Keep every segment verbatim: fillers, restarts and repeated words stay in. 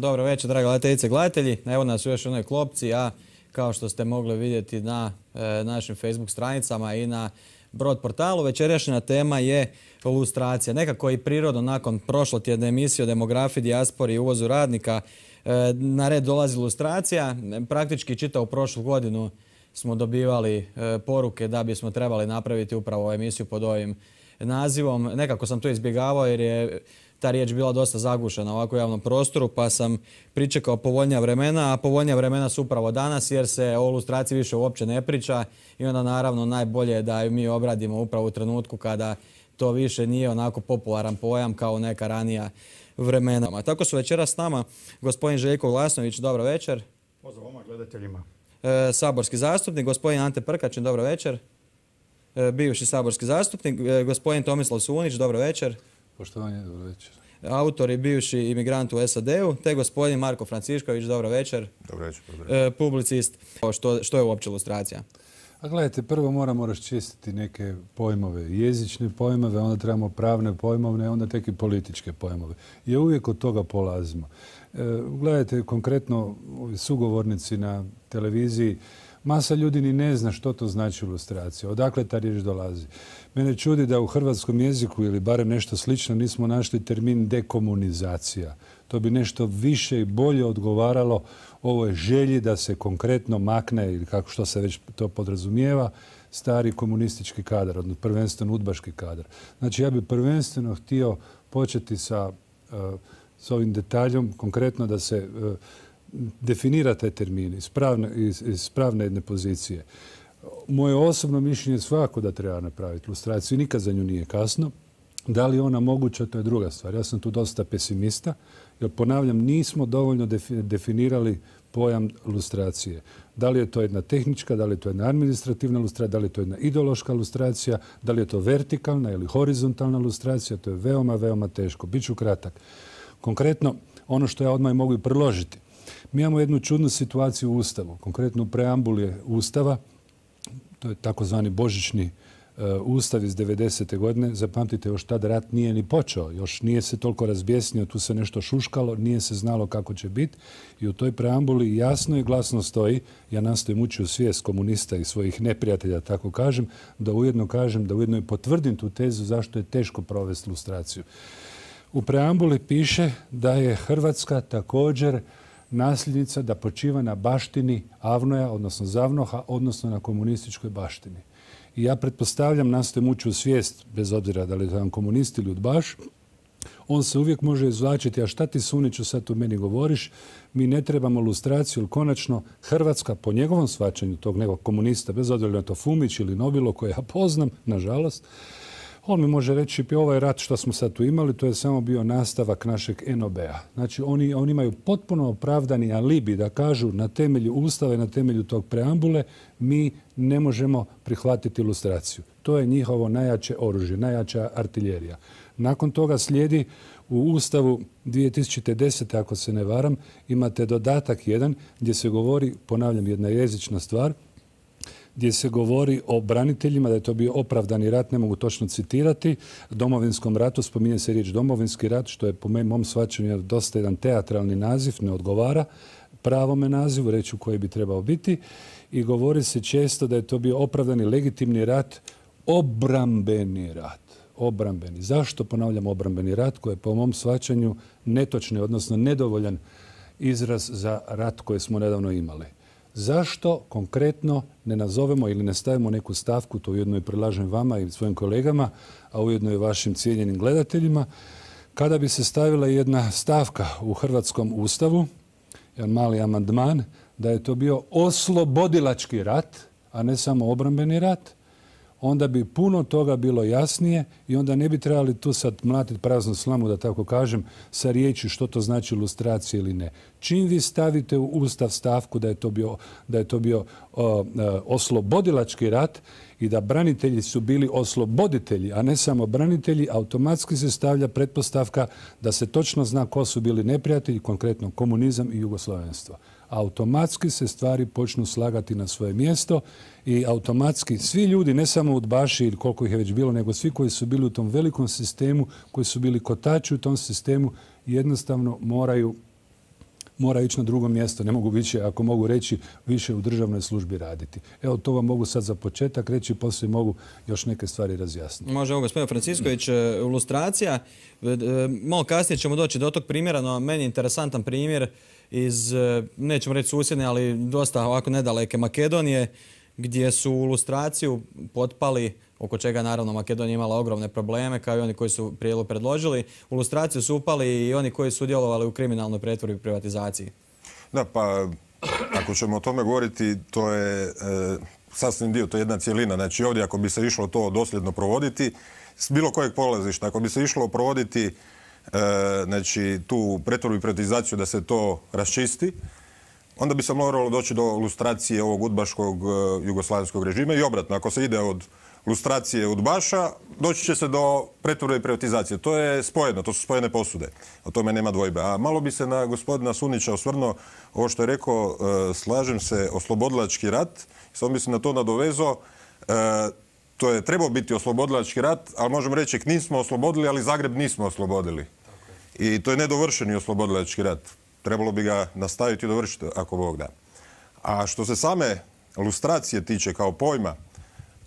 Dobro večer, drage gledateljice i gledatelji. Evo nas u još jednoj klopci, a kao što ste mogli vidjeti na e, našim Facebook stranicama i na Brod portalu, večerašnja tema je lustracija. Nekako i prirodno nakon prošlotjedne emisije o demografiji, dijaspori i uvozu radnika e, na red dolazi lustracija. Praktički čitavu prošlu godinu smo dobivali e, poruke da bismo trebali napraviti upravo emisiju pod ovim nazivom. Nekako sam to izbjegavao jer je ta riječ bila dosta zagušena ovako u javnom prostoru, pa sam pričekao povoljnija vremena, a povoljnija vremena su upravo danas jer se o lustraciji više uopće ne priča i onda naravno najbolje je da ju mi obradimo upravo u trenutku kada to više nije onako popularan pojam kao neka ranija vremena. Tako su večeras s nama gospodin Željko Glasnović, dobro večer. Pozdrav vama gledateljima. E, saborski zastupnik, gospodin Ante Prkačin, dobro večer. E, bivši saborski zastupnik, e, gospodin Tomislav Sunić, dobro večer. Poštovanje, dobro večer. Autor i bivši imigrant u S A D-u, te gospodin Marko Francišković, dobro večer. Dobro večer. E, publicist. Što, što je uopće lustracija? A gledajte, prvo moramo raščistiti neke pojmove, jezične pojmove, onda trebamo pravne pojmove, onda tek i političke pojmove. I uvijek od toga polazimo. E, gledajte, konkretno sugovornici na televiziji, masa ljudi ni ne zna što to znači lustracija, odakle ta riječ dolazi. Mene čudi da u hrvatskom jeziku ili barem nešto slično nismo našli termin dekomunizacija. To bi nešto više i bolje odgovaralo ovoj želji da se konkretno makne, ili kako što se već to podrazumijeva, stari komunistički kadar, odnosno prvenstveno udbaški kadar. Znači ja bih prvenstveno htio početi sa, uh, s ovim detaljom, konkretno da se uh, definira taj termin iz pravne, iz, iz pravne jedne pozicije. Moje osobno mišljenje je svakako da treba napraviti lustraciju. Nikad za nju nije kasno. Da li je ona moguća, to je druga stvar. Ja sam tu dosta pesimista, jer ponavljam, nismo dovoljno definirali pojam lustracije. Da li je to jedna tehnička, da li je to jedna administrativna lustracija, da li je to jedna ideološka lustracija, da li je to vertikalna ili horizontalna lustracija, to je veoma, veoma teško. Biću kratak. Konkretno, ono što ja odmah mogu i predložiti. Mi imamo jednu čudnu situaciju u Ustavu, konkretno u preambuli Ustava, to je takozvani božićni uh, Ustav iz devedesete godine. Zapamtite, još tad rat nije ni počeo, još nije se toliko razbjesnio, tu se nešto šuškalo, nije se znalo kako će biti i u toj preambuli jasno i glasno stoji, ja nastojim ući u svijest komunista i svojih neprijatelja, tako kažem, da ujedno kažem, da ujedno i potvrdim tu tezu zašto je teško provesti lustraciju. U preambuli piše da je Hrvatska također nasljednica da počiva na baštini Avnoja, odnosno Zavnoha, odnosno na komunističkoj baštini. I ja pretpostavljam, nastojim ući u svijest, bez obzira da li je to komunist ili udbaš, on se uvijek može izvlačiti, a šta ti Suniću sad tu meni govoriš, mi ne trebamo lustraciju, jer konačno Hrvatska, po njegovom shvaćanju tog nekog komunista, bez obzira na to Fumić ili Nobilo, koje ja poznam, nažalost, on mi može reći pa ovaj rat što smo sad tu imali, to je samo bio nastavak našeg N O B-a. Znači oni, oni imaju potpuno opravdani alibi da kažu na temelju Ustava i na temelju tog preambule mi ne možemo prihvatiti lustraciju. To je njihovo najjače oružje, najjača artiljerija. Nakon toga slijedi u Ustavu dvije tisuće desete. ako se ne varam, imate dodatak jedan gdje se govori, ponavljam, jedna jezična stvar, gdje se govori o braniteljima, da je to bio opravdani rat, ne mogu točno citirati, Domovinskom ratu, spominje se riječ Domovinski rat, što je po mom shvaćanju dosta jedan teatralni naziv, ne odgovara pravome nazivu, reći u koji bi trebao biti, i govori se često da je to bio opravdani legitimni rat, obrambeni rat. Obrambeni. Zašto ponavljam obrambeni rat, koji je po mom shvaćanju netočni, odnosno nedovoljan izraz za rat koji smo nedavno imali? Zašto konkretno ne nazovemo ili ne stavimo neku stavku, to ujedno i predlažem vama i svojim kolegama, a ujedno i vašim cijenjenim gledateljima, kada bi se stavila jedna stavka u Hrvatskom ustavu, jedan mali amandman, da je to bio oslobodilački rat, a ne samo obrambeni rat, onda bi puno toga bilo jasnije i onda ne bi trebali tu sad mlatiti praznu slamu, da tako kažem, sa riječi što to znači lustracija ili ne. Čim vi stavite u Ustav stavku da je to bio, da je to bio o, oslobodilački rat i da branitelji su bili osloboditelji, a ne samo branitelji, automatski se stavlja pretpostavka da se točno zna ko su bili neprijatelji, konkretno komunizam i jugoslovenstvo. Automatski se stvari počnu slagati na svoje mjesto i automatski svi ljudi, ne samo udbaši ili koliko ih je već bilo, nego svi koji su bili u tom velikom sistemu, koji su bili kotači u tom sistemu, jednostavno moraju mora ići na drugo mjesto. Ne mogu više, ako mogu reći, više u državnoj službi raditi. Evo, to vam mogu sad za početak reći, poslije mogu još neke stvari razjasniti. Može, gospodin Francisković, ilustracija. Malo kasnije ćemo doći do tog primjera, no meni je interesantan primjer iz, nećemo reći susjedne, ali dosta ovako nedaleke Makedonije, gdje su u ilustraciju potpali, oko čega naravno Makedonija imala ogromne probleme, kao i oni koji su prijedlog predložili. U ilustraciju su upali i oni koji su sudjelovali u kriminalnoj pretvorbi i privatizaciji. Da, pa ako ćemo o tome govoriti, to je e, sasvim dio, to je jedna cijelina. Znači ovdje ako bi se išlo to dosljedno provoditi, s bilo kojeg polazišta, ako bi se išlo provoditi e, znači, tu pretvorbu i privatizaciju da se to raščisti, onda bi se moralo doći do lustracije ovog udbaškog e, jugoslavenskog režima i obratno. Ako se ide od lustracije udbaša, doći će se do pretvorbe i privatizacije. To je spojeno, to su spojene posude. O tome nema dvojbe. A malo bi se na gospodina Sunića osvrnuo, ovo što je rekao, e, slažem se, oslobodilački rat, samo bi se na to nadovezao, e, to je trebao biti oslobodilački rat, ali možemo reći Knin smo oslobodili, ali Zagreb nismo oslobodili. I to je nedovršeni oslobodilački rat. Trebalo bi ga nastaviti i dovršiti, ako Bog da. A što se same lustracije tiče kao pojma,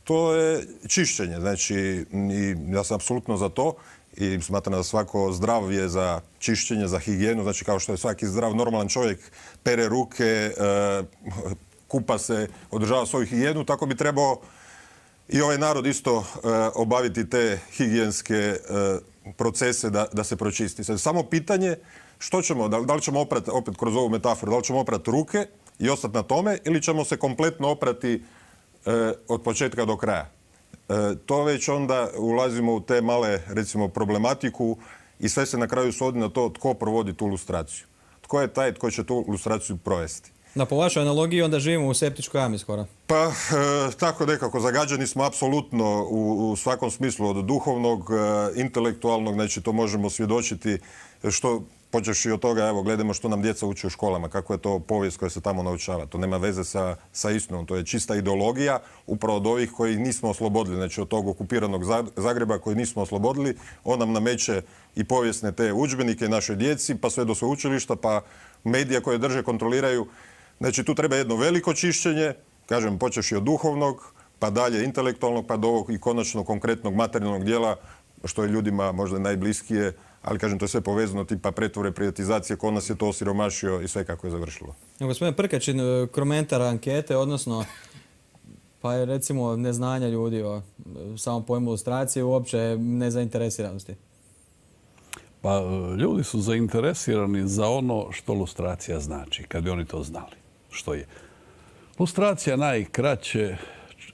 to je čišćenje. Znači, i ja sam apsolutno za to i smatram da svako zdrav je za čišćenje, za higijenu. Znači, kao što je svaki zdrav, normalan čovjek pere ruke, e, kupa se, održava svoju higijenu, tako bi trebao i ovaj narod isto e, obaviti te higijenske e, procese da, da se pročisti. Sad, samo pitanje što ćemo, da, da li ćemo oprati, opet kroz ovu metaforu, da li ćemo oprati ruke i ostati na tome ili ćemo se kompletno oprati e, od početka do kraja. E, to već onda ulazimo u te male, recimo, problematiku i sve se na kraju svodi na to tko provodi tu lustraciju. Tko je taj tko će tu lustraciju provesti. Da, po vašoj analogiji onda živimo u septičkoj jami skoro. Pa, e, tako nekako, zagađeni smo apsolutno u, u svakom smislu od duhovnog, e, intelektualnog, znači to možemo svjedočiti što, počeš i od toga, evo, gledamo što nam djeca uče u školama, kako je to povijest koja se tamo naučava. To nema veze sa, sa istinom, to je čista ideologija upravo od ovih koji nismo oslobodili, znači od tog okupiranog Zagreba koji nismo oslobodili, on nam nameće i povijesne te udžbenike našoj djeci, pa sve do sveučilišta, pa medija koje drže, kontroliraju. Znači, tu treba jedno veliko čišćenje, kažem, počeš i od duhovnog, pa dalje intelektualnog, pa do ovog i konačno konkretnog materijalnog dijela, što je ljudima možda najbliskije, ali kažem, to je sve povezano, tipa pretvore, privatizacije, ko nas je to osiromašio i sve kako je završilo. Gospodin Prkačin, komentar ankete, odnosno, pa je recimo neznanja ljudi o samom pojmu ilustracije, uopće nezainteresiranosti. Pa ljudi su zainteresirani za ono što lustracija znači, kad bi oni to znali. Što je? Lustracija najkraće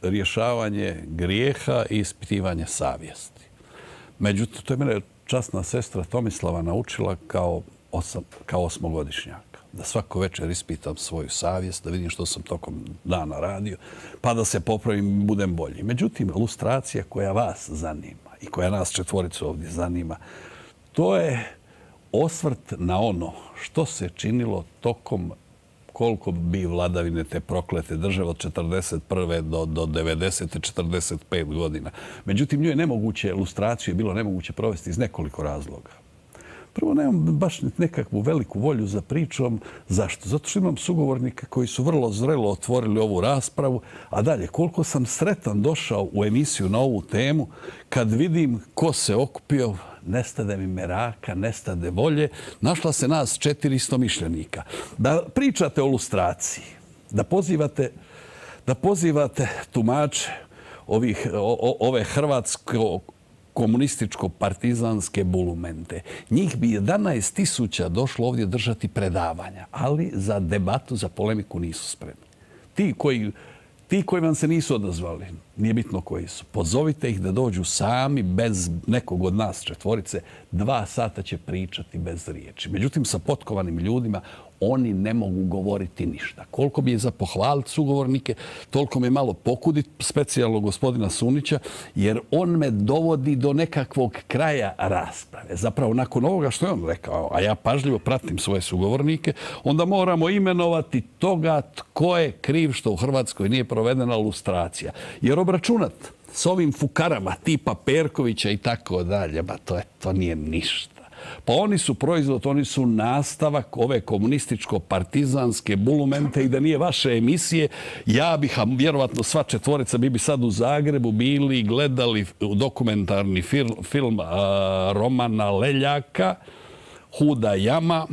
rješavanje grijeha i ispitivanje savjesti. Međutim, to je mene časna sestra Tomislava naučila kao, osam, kao osmogodišnjaka. Da svako večer ispitam svoju savjest, da vidim što sam tokom dana radio, pa da se popravim i budem bolji. Međutim, lustracija koja vas zanima i koja nas četvoricu ovdje zanima, to je osvrt na ono što se činilo tokom koliko bi vladavine te proklete države od četrdeset prve do, do devedesete, četrdeset pet godina. Međutim, njoj je nemoguće, lustraciju je bilo nemoguće provesti iz nekoliko razloga. Prvo, nemam baš nekakvu veliku volju za pričom. Zašto? Zato što imam sugovornika koji su vrlo zrelo otvorili ovu raspravu. A dalje, koliko sam sretan došao u emisiju na ovu temu, kad vidim ko se okupio, nestade mi meraka, nestade volje, našla se nas četiristo mišljenika. Da pričate o lustraciji, da pozivate, da pozivate tumače ovih, o, ove hrvatske komunističko-partizanske bulumente. Njih bi jedanaest tisuća došlo ovdje držati predavanja, ali za debatu, za polemiku nisu spremni. Ti koji, ti koji vam se nisu odazvali, nije bitno koji su, pozovite ih da dođu sami, bez nekog od nas četvorice, dva sata će pričati bez riječi. Međutim, sa potkovanim ljudima oni ne mogu govoriti ništa. Koliko bi je za pohvaliti sugovornike, toliko me malo pokuditi, specijalno gospodina Sunića, jer on me dovodi do nekakvog kraja rasprave. Zapravo, nakon ovoga što je on rekao, a ja pažljivo pratim svoje sugovornike, onda moramo imenovati toga tko je kriv što u Hrvatskoj nije provedena lustracija. Jer obračunat s ovim fukarama tipa Perkovića i tako dalje, ba to, je, to nije ništa. Pa oni su proizvod, oni su nastavak ove komunističko-partizanske bulumente i da nije vaše emisije, ja bih, a vjerovatno sva četvorica, mi bi sad u Zagrebu bili i gledali dokumentarni film, film a, Romana Leljaka, Huda jama,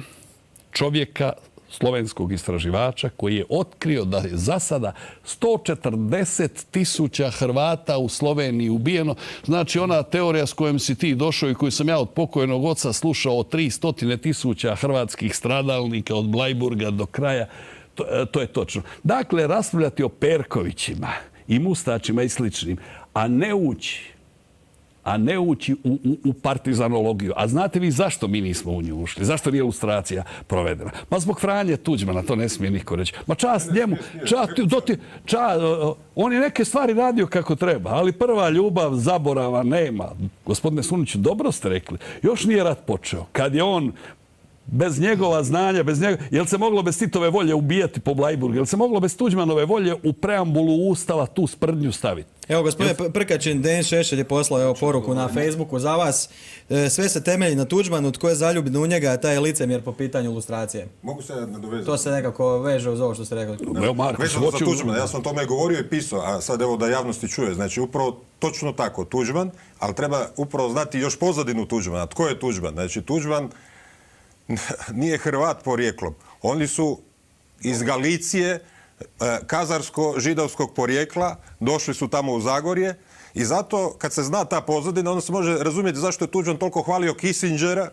čovjeka, slovenskog istraživača koji je otkrio da je za sada sto četrdeset tisuća Hrvata u Sloveniji ubijeno. Znači ona teorija s kojom si ti došao i koju sam ja od pokojnog oca slušao o tristo tisuća hrvatskih stradalnika od Blajburga do kraja, to, to je točno. Dakle, raspravljati o Perkovićima i Mustačima i sličnim, a ne ući a ne ući u, u, u partizanologiju. A znate vi zašto mi nismo u nju ušli? Zašto nije ilustracija provedena? Ma zbog Franje Tuđmana, to ne smije niko reći. Ma čast njemu, čast, doti, čast, on je neke stvari radio kako treba, ali prva ljubav zaborava nema. Gospodine Suniću, dobro ste rekli. Još nije rat počeo. Kad je on bez njegova znanja, bez njegova... Jel se moglo bez Titove volje ubijati po Blajburgu? Jel se moglo bez Tuđmanove volje u preambulu Ustava tu sprdnju staviti? Evo, gospodine Prkačin, Denis Šešelj je poslao evo, poruku na Facebooku za vas. E, sve se temelji na Tuđmanu, tko je zaljubljen u njega, taj je licemjer po pitanju ilustracije. Mogu se nadovezati? To se nekako veže uz ovo što ste rekli. Evo, Marko, vezano za Tuđmana, ja sam o tome govorio i pisao, a sad evo da javnosti čuje. Znači, upravo točno tako, Tuđman, ali treba upravo znati još pozadinu Tuđmana. Tko je Tuđman? Znači, Tuđman nije Hrvat porijeklom. Oni su iz Galicije, kazarsko-židovskog porijekla, došli su tamo u Zagorje i zato kad se zna ta pozadina, onda se može razumjeti zašto je Tuđman toliko hvalio Kissingera,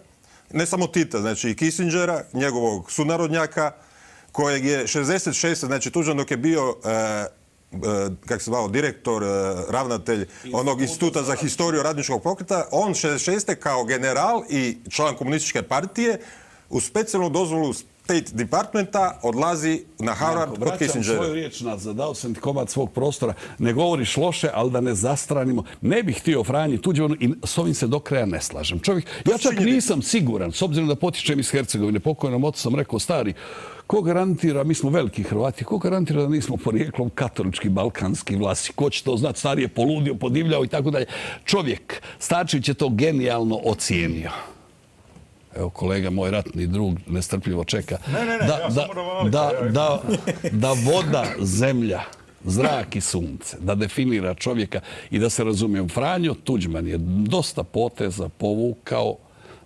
ne samo Tita, znači i Kissingera, njegovog sunarodnjaka, kojeg je šezdeset šeste. znači Tuđman dok je bio kako se zvao, direktor, ravnatelj onog instituta za historiju radničkog pokreta, on šezdeset šeste kao general i član komunističke partije u specijalnu dozvolu State Departmenta odlazi na Harvard kod Kissingera. Vraćam svoju riječ nazad, dao sam ti komad svog prostora. Ne govoriš loše, ali da ne zastranimo. Ne bih htio Franji Tuđmanu i s ovim se do kraja ne slažem. Čovjek, ja čak nisam siguran, s obzirom da potičem iz Hercegovine, pokojnom ocu sam rekao, stari, ko garantira, mi smo veliki Hrvati, ko garantira da nismo porijeklom katolički, balkanski vlasi? Ko će to znati? Stari je poludio, podivljao i tako dalje. Čovjek, Starčević je to genijalno ocijenio. Evo, kolega, moj ratni drug, nestrpljivo čeka. Ne, ne, ne, da, ja da, sam moram da, da, da voda, zemlja, zrak i sunce, da definira čovjeka i da se razumijem. Franjo Tuđman je dosta poteza povukao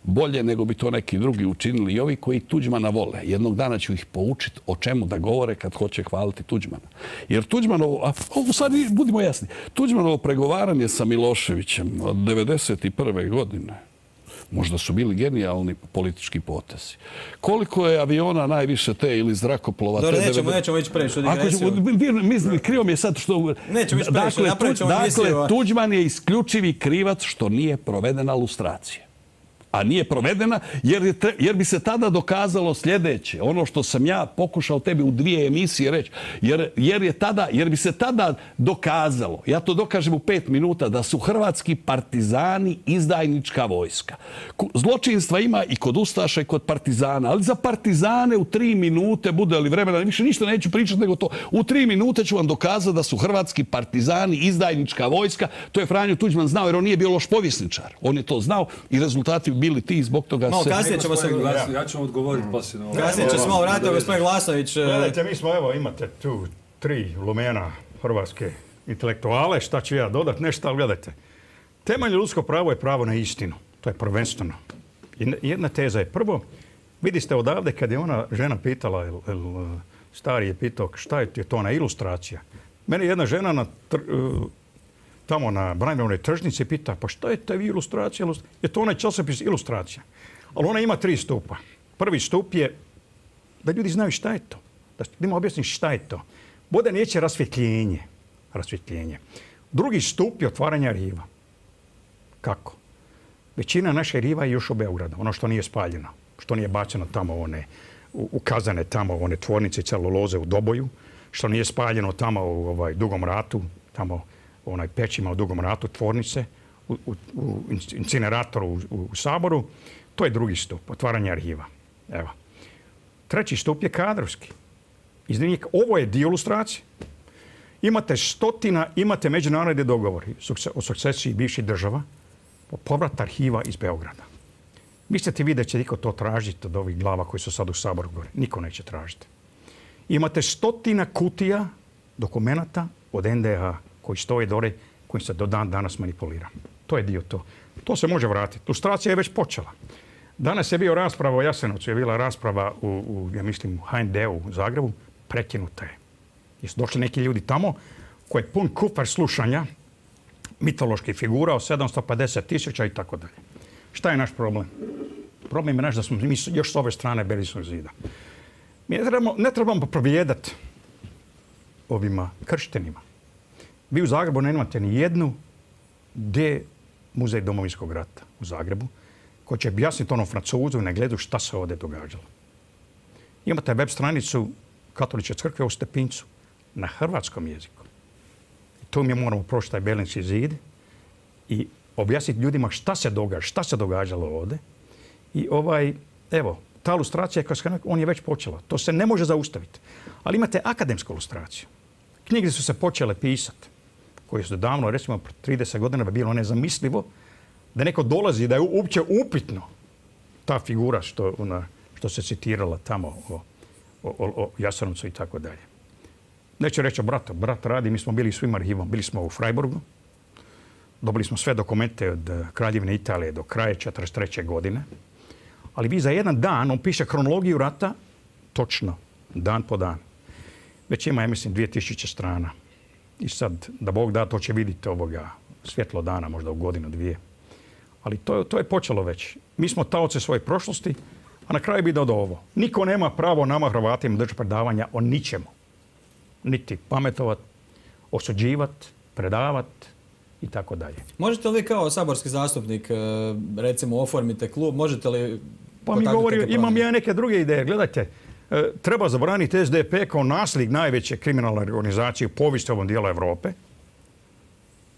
bolje nego bi to neki drugi učinili i ovi koji Tuđmana vole. Jednog dana ću ih poučiti o čemu da govore kad hoće hvaliti Tuđmana. Jer Tuđmanovo, a ovo sad budimo jasni, Tuđmanovo pregovaranje sa Miloševićem od devedeset prve godine, možda su bili genijalni politički potezi. Koliko je aviona najviše te ili zrakoplova? Dobro, nećemo, nećemo ići previše u digresiju. Mislim, krivo mi je sad što... Nećemo ići previše, napravit ćemo emisiju. Dakle, Tuđman je isključivi krivac što nije provedena lustracija. A nije provedena jer, je, jer bi se tada dokazalo sljedeće. Ono što sam ja pokušao tebi u dvije emisije reći. Jer, jer, je tada, jer bi se tada dokazalo, ja to dokažem u pet minuta, da su hrvatski partizani izdajnička vojska. Zločinstva ima i kod ustaša i kod partizana. Ali za partizane u tri minute, bude li vremena, više ništa neću pričati nego to. U tri minute ću vam dokazati da su hrvatski partizani izdajnička vojska. To je Franjo Tuđman znao jer on nije bio loš povjesničar. On je to znao i rezultati bili ti zbog toga no, se... Kasnije ćemo se... Ja ću vam odgovoriti poslije. Kasnije će se malo vratiti, gospodin Glasović. Gledajte, mi smo, evo, imate tu tri lumena hrvatske intelektuale, šta ću ja dodat, nešto, ali gledajte. Temeljno ljudsko pravo je pravo na istinu. To je prvenstveno. I jedna teza je prvo, vidite odavde kad je ona žena pitala, el, el, stari je pitao šta je to ona ilustracija. Mene jedna žena na tr, tamo na Branimirovnoj tržnici pita, pa šta je ta ilustracija? Je to onaj časopis ilustracija. Ali ona ima tri stupa. Prvi stup je da ljudi znaju šta je to. Da njima objasnim šta je to. Bude riječ rasvjetljenje. Rasvjetljenje. Drugi stup je otvaranje arhiva. Kako? Većina naše arhiva je još u Beogradu. Ono što nije spaljeno. Što nije bačeno tamo one, ukazane tamo one tvornice celuloze u Doboju. Što nije spaljeno tamo u ovaj, Dugom ratu. Tamo onaj pećima u Dugom ratu tvornice. U, u, u incineratoru u, u, u Saboru. To je drugi stup. Otvaranje arhiva. Evo. Treći stup je kadrovski. Iznimnik, ovo je dio ilustracije. Imate stotina, imate međunarodne dogovori o sukcesiji bivših država po povrat arhiva iz Beograda. Mislite vi da će niko to tražiti od ovih glava koji su sad u Saboru gore? Niko neće tražiti. Imate stotina kutija dokumenata od en de ha koji stoje dole, koji se do dan danas manipulira. To je dio to. To se može vratiti. Lustracija je već počela. Danas je bio rasprava o Jasenovcu, je bila rasprava u, u ja mislim, u ha en de u Zagrebu, prekinuta je. Jesu došli neki ljudi tamo koji je pun kufer slušanja mitoloških figura o sedamsto pedeset tisuća i tako dalje. Šta je naš problem? Problem je naš da smo mi još s ove strane Berlinskog zida. Mi ne trebamo, ne trebamo provijedati ovima krštenima. Vi u Zagrebu nemate ni jednu gdje muzej Domovinskog rata u Zagrebu koji će objasniti onom Francuzu ne gledu šta se ovdje događalo. Imate web stranicu Katoličke crkve u Stepincu na hrvatskom jeziku. Tu mi moramo proći taj Berlinski zid i objasniti ljudima šta se događa, šta se događalo ovdje. I ovaj, evo, ta lustracija, on je već počela. To se ne može zaustaviti. Ali imate akademsku lustraciju. Knjige su se počele pisati, koje su davno, recimo, trideset godina bi bilo nezamislivo da neko dolazi, da je uopće upitno ta figura što, ona, što se citirala tamo o, o, o Jasenovcu i tako dalje. Neću reći o bratu. Brat radi, mi smo bili svim arhivom. Bili smo u Freiburgu. Dobili smo sve dokumente od Kraljevine Italije do kraja četrdeset treće godine. Ali vi za jedan dan, on piše kronologiju rata, točno, dan po dan. Već ima, ja mislim, dvije tisuće strana. I sad, da Bog da, to će vidjeti ovoga svjetlo dana, možda u godinu, dvije. Ali to, to je počelo već. Mi smo taoci svoje prošlosti, a na kraju bi dodao ovo. Niko nema pravo nama, Hrvatima, držati predavanja o ničemu. Niti pametovat, osuđivat, predavat i tako dalje. Možete li vi kao saborski zastupnik, recimo, oformite klub, možete li... Pa mi govori, imam ja neke druge ideje. Gledajte, treba zabraniti es de pe kao nasljednik najveće kriminalne organizacije u povijesti ovom dijelu Europe.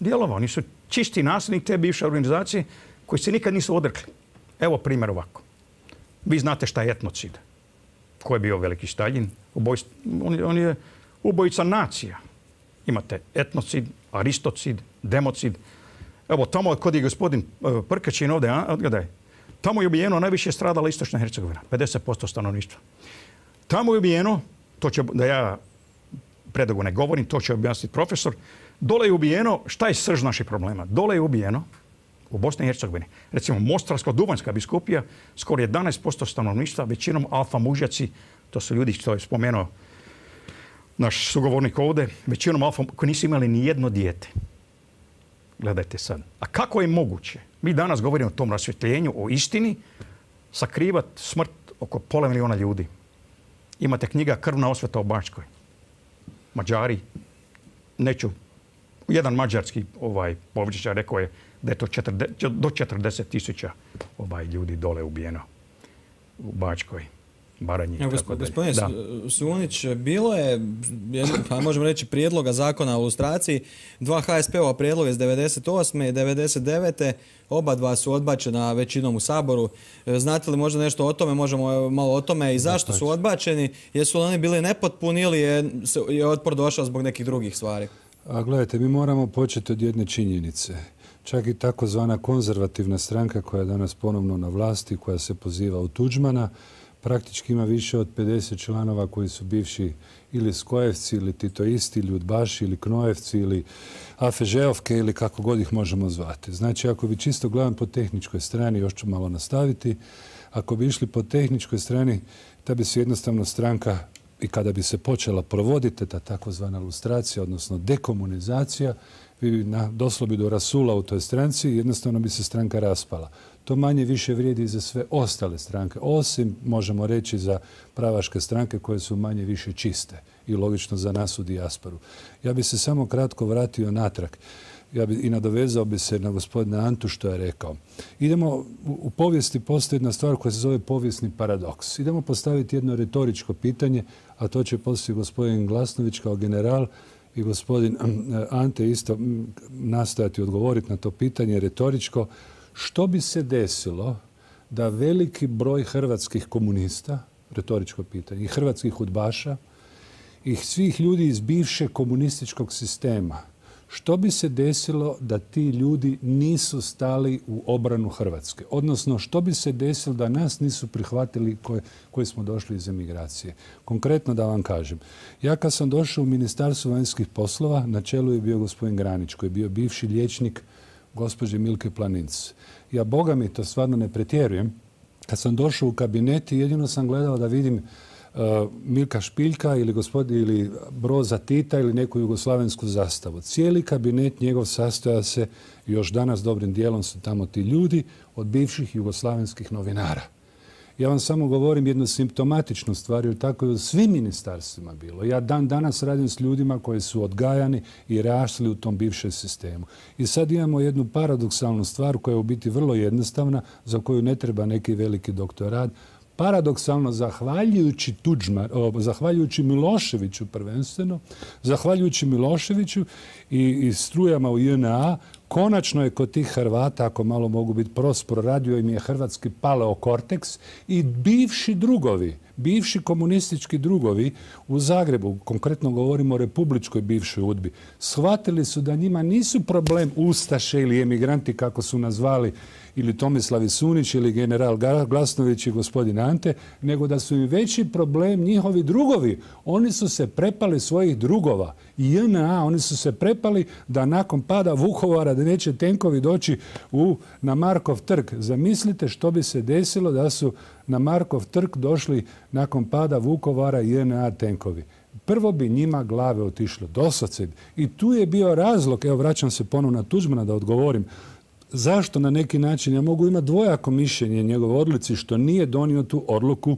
Dijelova, oni su čisti nasljednik te bivše organizacije koji se nikad nisu odrekli. Evo primjer ovako. Vi znate šta je etnocid. Ko je bio veliki Staljin? Ubojst, on, on je ubojica nacija. Imate etnocid, aristocid, democid. Evo tamo kod je gospodin Prkačin ovdje, odgledaj. Tamo je ubijeno najviše stradala Istočna Hercegovina, pedeset posto stanovništva. Tamo je ubijeno, to će, da ja predugo ne govorim, to će objasniti profesor, dole je ubijeno, šta je srž naših problema? Dole je ubijeno u Bosni i Hercegovini. Recimo Mostarsko-Duvanjska biskupija, skoro jedanaest posto stanovništva, većinom alfa mužjaci, to su ljudi što je spomenuo naš sugovornik ovdje, većinom alfa koji nisu imali ni jedno dijete. Gledajte sad. A kako je moguće? Mi danas govorimo o tom rasvjetljenju, o istini, sakrivat smrt oko pola miliona ljudi. Imate knjiga Krvna osveta u Bačkoj. Mađari, neću, jedan mađarski ovaj, povjećar rekao je da je to četrdeset, do četrdeset tisuća ovaj, ljudi dole ubijeno u Bačkoj. Baranji. Ja, gospodine Sunić, bilo je, pa možemo reći, prijedloga zakona o lustraciji, dva ha es pe ova prijedloga iz devedeset osme i devedeset devete Oba dva su odbačena većinom u Saboru. Znate li možda nešto o tome? Možemo malo o tome i zašto su odbačeni? Jesu li oni bili nepotpuni ili je, je otpor došao zbog nekih drugih stvari? A gledajte, mi moramo početi od jedne činjenice. Čak i takozvana konzervativna stranka koja je danas ponovno na vlasti, koja se poziva u Tuđmana, praktički ima više od pedeset članova koji su bivši ili Skojevci, ili Titoisti, ili Udbaši, ili Knojevci, ili Afežeovke, ili kako god ih možemo zvati. Znači, ako bi čisto gledam po tehničkoj strani, još ću malo nastaviti, ako bi išli po tehničkoj strani, ta bi se jednostavno stranka, i kada bi se počela provoditi ta takozvana lustracija, odnosno dekomunizacija, bi doslo bi do rasula u toj stranci i jednostavno bi se stranka raspala. To manje više vrijedi za sve ostale stranke, osim, možemo reći, za pravaške stranke koje su manje više čiste i logično za nas u dijasporu. Ja bi se samo kratko vratio natrag. Ja bi i nadovezao bi se na gospodina Antu što je rekao. Idemo, u povijesti postoji jedna stvar koja se zove povijesni paradoks. Idemo postaviti jedno retoričko pitanje, a to će poslije gospodin Glasnović kao general i gospodin Ante isto nastojati odgovoriti na to pitanje retoričko. Što bi se desilo da veliki broj hrvatskih komunista, retoričko pitanje, i hrvatskih udbaša, i svih ljudi iz bivšeg komunističkog sistema, Što bi se desilo da ti ljudi nisu stali u obranu Hrvatske? Odnosno, što bi se desilo da nas nisu prihvatili koje, koji smo došli iz emigracije? Konkretno da vam kažem. Ja kad sam došao u Ministarstvo vanjskih poslova, na čelu je bio gospodin Granić, koji je bio bivši liječnik gospođe Milke Planinc. Ja, Boga mi, to stvarno ne pretjerujem, kad sam došao u kabinet, jedino sam gledao da vidim Uh, Milka Špiljka ili, gospodin, ili Broza Tita ili neku jugoslavensku zastavu. Cijeli kabinet njegov sastoja se, još danas dobrim dijelom su tamo ti ljudi, od bivših jugoslavenskih novinara. Ja vam samo govorim jednu simptomatičnu stvar, jer tako je u svim ministarstvima bilo. Ja dan danas radim s ljudima koji su odgajani i rasli u tom bivšem sistemu. I sad imamo jednu paradoksalnu stvar koja je u biti vrlo jednostavna, za koju ne treba neki veliki doktorat. Paradoksalno, zahvaljujući Tuđman, o, zahvaljujući Miloševiću prvenstveno, zahvaljujući Miloševiću i, i strujama u J N A, konačno je kod tih Hrvata, ako malo mogu biti prospor, radio im je hrvatski paleokorteks i bivši drugovi, bivši komunistički drugovi u Zagrebu, konkretno govorimo o republičkoj bivšoj udbi, shvatili su da njima nisu problem ustaše ili emigranti, kako su nazvali ili Tomislav Sunić ili general Glasnović i gospodin Ante, nego da su im veći problem njihovi drugovi. Oni su se prepali svojih drugova. I J N A, oni su se prepali da nakon pada Vukovara da neće tenkovi doći u, na Markov trg. Zamislite što bi se desilo da su na Markov trg došli nakon pada Vukovara J N A tenkovi. Prvo bi njima glave otišlo doslovce. I tu je bio razlog, evo vraćam se ponovno na Tuđmana da odgovorim, zašto na neki način ja mogu imati dvojako mišljenje njegove odluci što nije donio tu odluku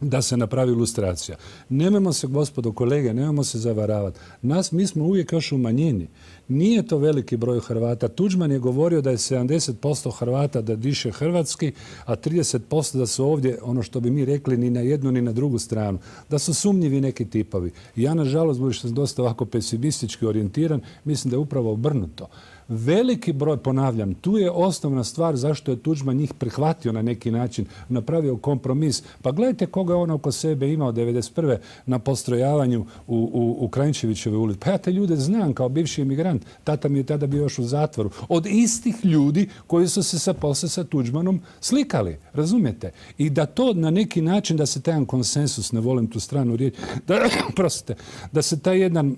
da se napravi ilustracija. Nemojmo se, gospodo kolege, nemojmo se zavaravati. Nas, mi smo uvijek još u manjini. Nije to veliki broj Hrvata. Tuđman je govorio da je sedamdeset posto Hrvata da diše hrvatski, a trideset posto da su ovdje, ono što bi mi rekli, ni na jednu ni na drugu stranu. Da su sumnjivi neki tipovi. Ja, nažalost, budući sam dosta ovako pesimistički orijentiran, mislim da je upravo obrnuto. Veliki broj, ponavljam, tu je osnovna stvar zašto je Tuđman njih prihvatio na neki način, napravio kompromis. Pa gledajte koga je on oko sebe imao devedeset prve na postrojavanju u, u, u Kranjčevićevoj ulici. Pa ja te ljude znam kao bivši emigrant. Tata mi je tada bio još u zatvoru. Od istih ljudi koji su se sa posle sa Tuđmanom slikali. Razumijete? I da to na neki način, da se taj konsensus, ne volim tu stranu riječ, da, prostite, da se taj jedan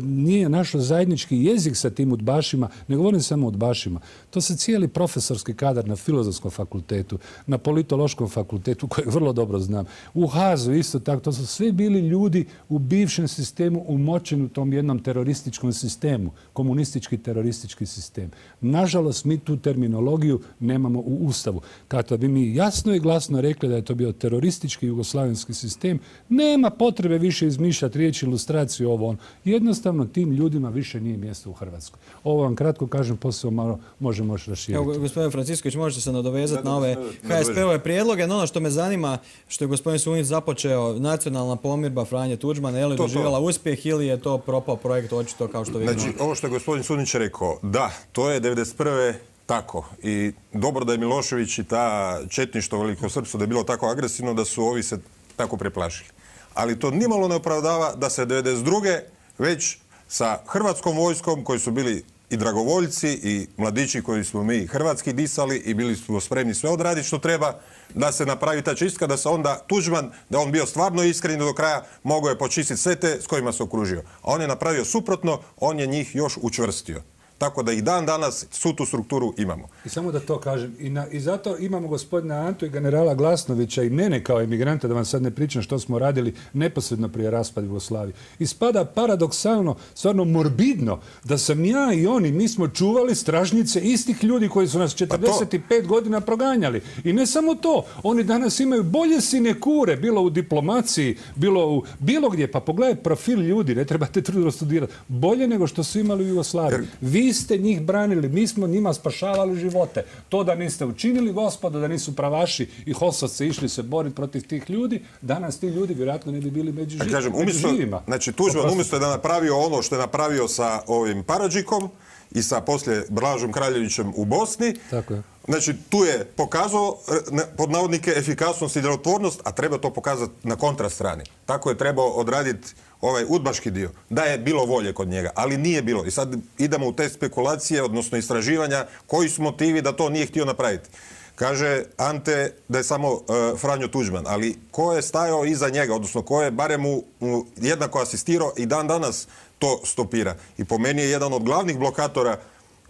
nije našao zajednički jezik sa tim udbašima, ne govorim samo o udbašima. To se cijeli profesorski kadar na Filozofskom fakultetu, na Politološkom fakultetu, kojeg vrlo dobro znam, u Hazu isto tako. To su svi bili ljudi u bivšem sistemu umočeni u tom jednom terorističkom sistemu, komunistički teroristički sistem. Nažalost, mi tu terminologiju nemamo u Ustavu. Kada bi mi jasno i glasno rekli da je to bio teroristički jugoslavenski sistem, nema potrebe više izmišljati riječi, ilustraciju, ovo ono. Jednostavno tim ljudima više nije mjesto u Hrvatskoj. Ovo vam kratko kažem, poslije malo možemo još raširiti. Evo, gospodin Francisković, možete se nadovezati na ove H S P-ove prijedloge. No, ono što me zanima, što je gospodin Sunić započeo, nacionalna pomirba Franje Tuđmana, je li doživjela uspjeh ili je to propao projekt, očito kao što vidimo? Znači, ovo što je gospodin Sunić rekao, da, to je devedeset prve tako. I dobro da je Milošević i ta četništvo velikosrpsko da je bilo tako agresivno da su ovi se tako preplašili. Ali to nimalo ne opravdava da se devedeset druge već sa hrvatskom vojskom, koji su bili i dragovoljci i mladići koji smo mi hrvatski disali i bili smo spremni sve odraditi što treba, da se napravi ta čistka, da se onda Tuđman, da on bio stvarno iskren do kraja, mogao je počistiti sve te s kojima se okružio. A on je napravio suprotno, on je njih još učvrstio. Tako da i dan danas svu tu strukturu imamo. I samo da to kažem, i, na, i zato imamo gospodina Antu i generala Glasnovića i mene kao emigranta, da vam sad ne pričam što smo radili neposredno prije raspada Jugoslavije. Ispada paradoksalno, stvarno morbidno, da sam ja i oni, mi smo čuvali stražnjice istih ljudi koji su nas četrdeset pet godina proganjali. I ne samo to, oni danas imaju bolje sinekure, bilo u diplomaciji, bilo u bilo gdje. Pa pogledaj profil ljudi, ne trebate trudno studirati. Bolje nego što su imali u Jugoslaviji. Vi ste njih branili, mi smo njima spašavali živote. To da niste učinili, gospodo, da nisu pravaši i hosovci išli se boriti protiv tih ljudi, danas ti ljudi vjerojatno ne bi bili među, živ, kažem, među umjesto, živima. Znači, Tuđman umjesto da je napravio ono što je napravio sa ovim Paradžikom i sa poslije Blažom Kraljevićem u Bosni. Tako je. Znači, tu je pokazao pod navodnike efikasnost i djelotvornost, a treba to pokazati na kontrastrani. Tako je trebao odraditi ovaj udbaški dio, da je bilo volje kod njega, ali nije bilo. I sad idemo u te spekulacije, odnosno istraživanja, koji su motivi da to nije htio napraviti. Kaže Ante da je samo uh, Franjo Tuđman, ali ko je stajao iza njega, odnosno ko je barem mu, mu jednako asistirao i dan danas to stopira. I po meni je jedan od glavnih blokatora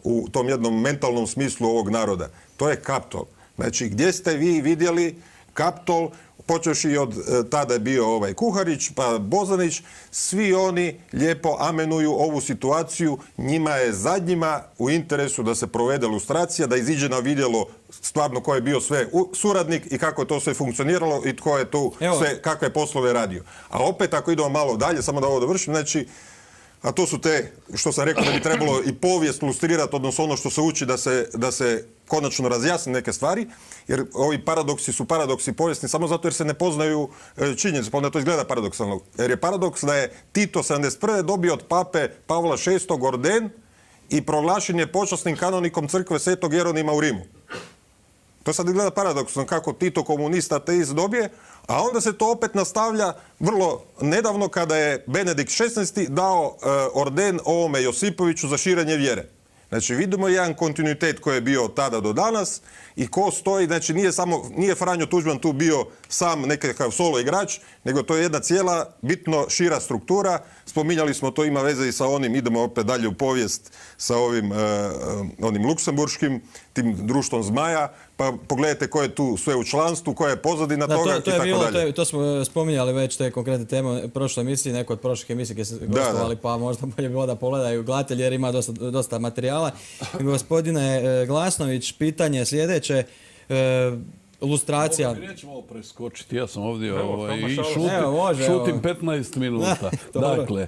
u tom jednom mentalnom smislu ovog naroda. To je Kaptol. Znači, gdje ste vi vidjeli Kaptol, počevši od e, tada je bio ovaj Kuharić, pa Bozanić, svi oni lijepo amenuju ovu situaciju. Njima je zadnjima u interesu da se provede lustracija, da iziđe na vidjelo stvarno ko je bio sve suradnik i kako je to sve funkcioniralo i tko je tu sve, kakve poslove radio. A opet, ako idemo malo dalje, samo da ovo dovršim, znači, a to su te, što sam rekao da bi trebalo i povijest lustrirati, odnosno ono što se uči da se, da se konačno razjasni neke stvari, jer ovi paradoksi su paradoksi povijesni samo zato jer se ne poznaju činjenice, pa onda to izgleda paradoksalno. Jer je paradoks da je Tito sedamdeset prve dobio od pape Pavla šestog orden i proglašen je počasnim kanonikom crkve Svetog Jeronima u Rimu. To sad izgleda paradoksno kako Tito komunista ateist dobije, a onda se to opet nastavlja vrlo nedavno kada je Benedikt šesnaesti dao e, orden ovome Josipoviću za širenje vjere. Znači vidimo jedan kontinuitet koji je bio od tada do danas i ko stoji, znači nije samo, nije Franjo Tuđman tu bio sam nekakav solo igrač, nego to je jedna cijela bitno šira struktura. Spominjali smo, to ima veze i sa onim, idemo opet dalje u povijest, sa ovim e, onim luksemburškim, tim društvom zmaja, pa pogledajte ko je tu sve u članstvu, koja je pozadina da, toga to, to i je tako bilo, dalje. To, je, to smo spominjali već te konkretne teme u prošloj emisiji, neko od prošlih emisija gdje se gostovali, pa možda bolje bilo da pogledaju gledatelji jer ima dosta, dosta materijala. Gospodine Glasnović, pitanje sljedeće. E, Lustracija. Ovo mi nećemo ovo preskočiti, ja sam ovdje Evo, ovaj, i evo, šutim, evo, može, šutim evo. petnaest minuta. Dakle,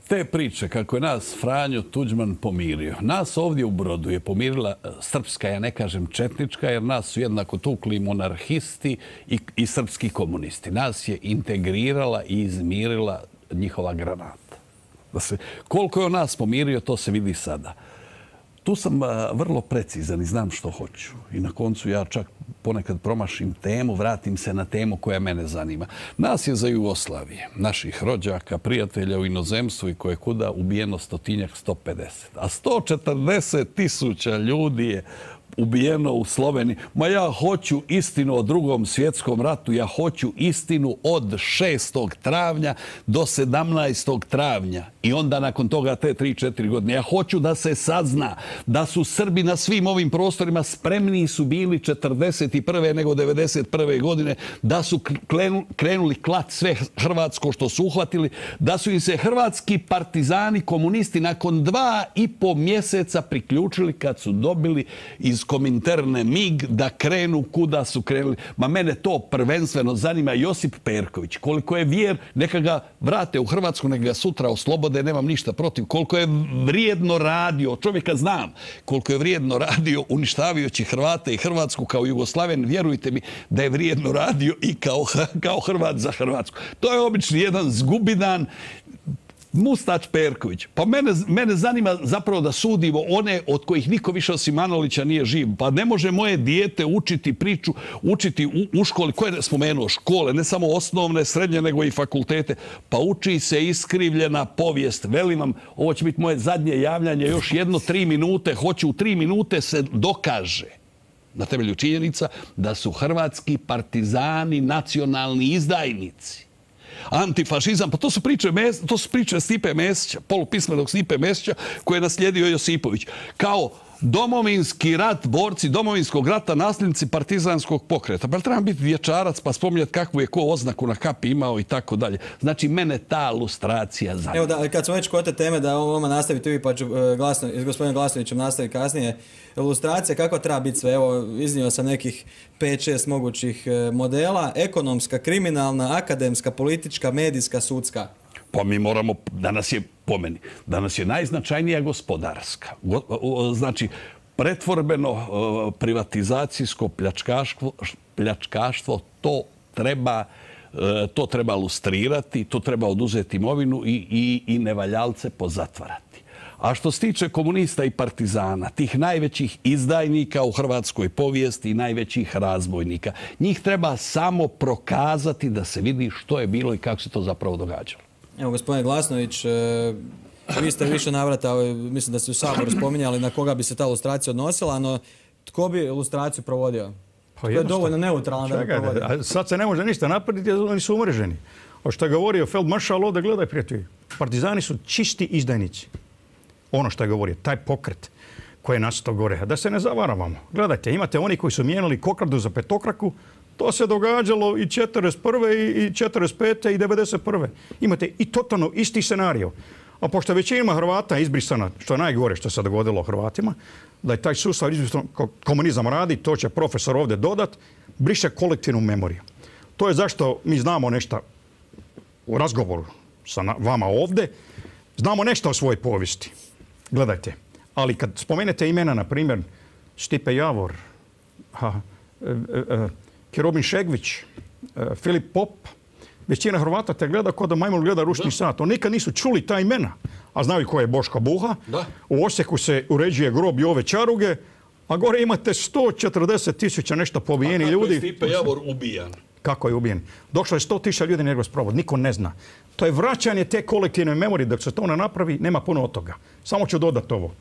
te priče kako je nas Franjo Tuđman pomirio. Nas ovdje u Brodu je pomirila srpska, ja ne kažem četnička, jer nas su jednako tukli monarhisti i, i srpski komunisti. Nas je integrirala i izmirila njihova granata. Da se, koliko je on nas pomirio, to se vidi sada. Tu sam a, vrlo precizan i znam što hoću. I na koncu ja čak ponekad promašim temu, vratim se na temu koja mene zanima. Nas je za Jugoslavije, naših rođaka, prijatelja u inozemstvu i koje kuda ubijeno stotinjak, sto pedeset. A sto četrdeset tisuća ljudi je ubijeno u Sloveniji. Ma ja hoću istinu o drugom svjetskom ratu, ja hoću istinu od šestog travnja do sedamnaestog travnja. I onda nakon toga te tri četiri godine. Ja hoću da se sazna da su Srbi na svim ovim prostorima spremniji su bili četrdeset prve nego devedeset prve godine, da su krenuli klat sve hrvatsko što su uhvatili, da su im se hrvatski partizani, komunisti nakon dva i po mjeseca priključili kad su dobili iz Kominterne mig da krenu kuda su krenuli. Ma mene to prvenstveno zanima. Josip Perković, koliko je vjer, neka ga vrate u Hrvatsku, neka ga sutra oslobode, nemam ništa protiv. Koliko je vrijedno radio, čovjeka znam, koliko je vrijedno radio uništavajući Hrvate i Hrvatsku kao Jugoslaven, vjerujte mi da je vrijedno radio i kao, kao Hrvat za Hrvatsku. To je obični jedan zgubidan Mustač Perković. Pa mene, mene zanima zapravo da sudimo one od kojih niko više osim Manolića nije živ. Pa ne može moje dijete učiti priču, učiti u, u školi. Ko je spomenuo škole? Ne samo osnovne, srednje, nego i fakultete. Pa uči se iskrivljena povijest. Velim vam, ovo će biti moje zadnje javljanje. Još jedno tri minute. Hoću u tri minute se dokaže na temelju činjenica da su hrvatski partizani nacionalni izdajnici. Antifašizam, pa to su priče, to su priče Stipe Mesića, polupismenog Stipe Mesića, koje je naslijedio Josipović. Kao domovinski rat, borci domovinskog rata, nasljednici partizanskog pokreta. Pa treba biti dječarac pa spominjati kakvu je ko oznaku na kapi imao i tako dalje. Znači, mene ta lustracija zanima. Evo, da, kad smo već kod te teme, da ovo nastaviti vi, pa ću glasno, s gospodinom Glasnovićem nastaviti kasnije. Lustracija, kako treba biti sve? Evo, iznio sam nekih pet šest mogućih modela. Ekonomska, kriminalna, akademska, politička, medijska, sudska. Pa mi moramo, danas je, po meni, danas je najznačajnija gospodarska. Znači, pretvorbeno, privatizacijsko pljačkaštvo, pljačkaštvo, to treba, to treba lustrirati, to treba oduzeti imovinu i, i, i nevaljalce pozatvarati. A što se tiče komunista i partizana, tih najvećih izdajnika u hrvatskoj povijesti i najvećih razbojnika, njih treba samo prokazati da se vidi što je bilo i kako se to zapravo događalo. Evo, gospodine Glasnović, vi ste više navrata, mislim da ste u Saboru spominjali na koga bi se ta lustracija odnosila, no tko bi lustraciju provodio? To je dovoljno neutralno da bi provodio. Sad se ne može ništa napraviti jer oni su umreženi. O što je govorio Feldmaršal ovdje, gledaj prijatelji, partizani su čisti izdajnici. Ono što je govorio, taj pokret koji je nastao gore. Da se ne zavaravamo. Gledajte, imate oni koji su mijenjali kokardu za petokraku, to se događalo i četrdeset prve i četrdeset pete i devedeset prve Imate i totalno isti scenario. A pošto većina Hrvata izbrisana, što je najgore što se dogodilo Hrvatima, da je taj sustav izbrisan, komunizam radi, to će profesor ovdje dodat, briše kolektivnu memoriju. To je zašto mi znamo nešto u razgovoru sa vama ovdje, znamo nešto o svojoj povijesti. Gledajte, ali kad spomenete imena, na primjer, Stipe Javor, ha, e, e, Kerobin Šegvić, e, Filip Pop, većina Hrvata te gleda kao da majmun gleda ručni sat. Oni nikad nisu čuli ta imena, a znaju ko je Boško Buha. Da. U Osijeku se uređuje grob Jove Čaruge, a gore imate sto četrdeset tisuća nešto pobijeni ljudi. A kako je Stipe Javor ubijan? Kako je ubijen? Došlo je sto tisuća ljudi na njegov sprovod, niko ne zna. To je vraćanje te kolektivne memorije, dok se to ne napravi, nema puno od toga. Samo ću dodati ovo.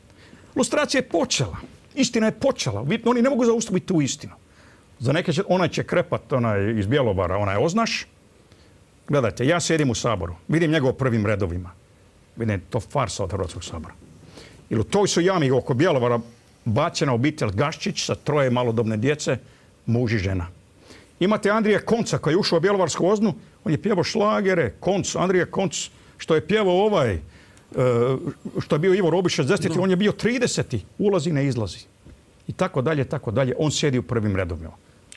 Lustracija je počela, istina je počela, oni ne mogu zaustaviti tu istinu. Za neke će, onaj će krepat, onaj iz Bjelovara, onaj Oznaš. Gledajte, ja sjedim u Saboru, vidim njegov prvim redovima. Vidim, to farsa od Hrvatskog sabora. Ili u toj su jami oko Bjelovara bačena obitelj Gaščić sa troje malodobne djece, muž i žena. Imate Andrija Konca koji je ušao u Bjelovarsku Oznu, on je pjevao šlagere, Konc, Andrija Konc, što je pjevao ovaj, što je bio Ivo Robić šezdeset, on je bio trideseti, ulazi, ne izlazi. I tako dalje, tako dalje, on sjedi u prvim redovima.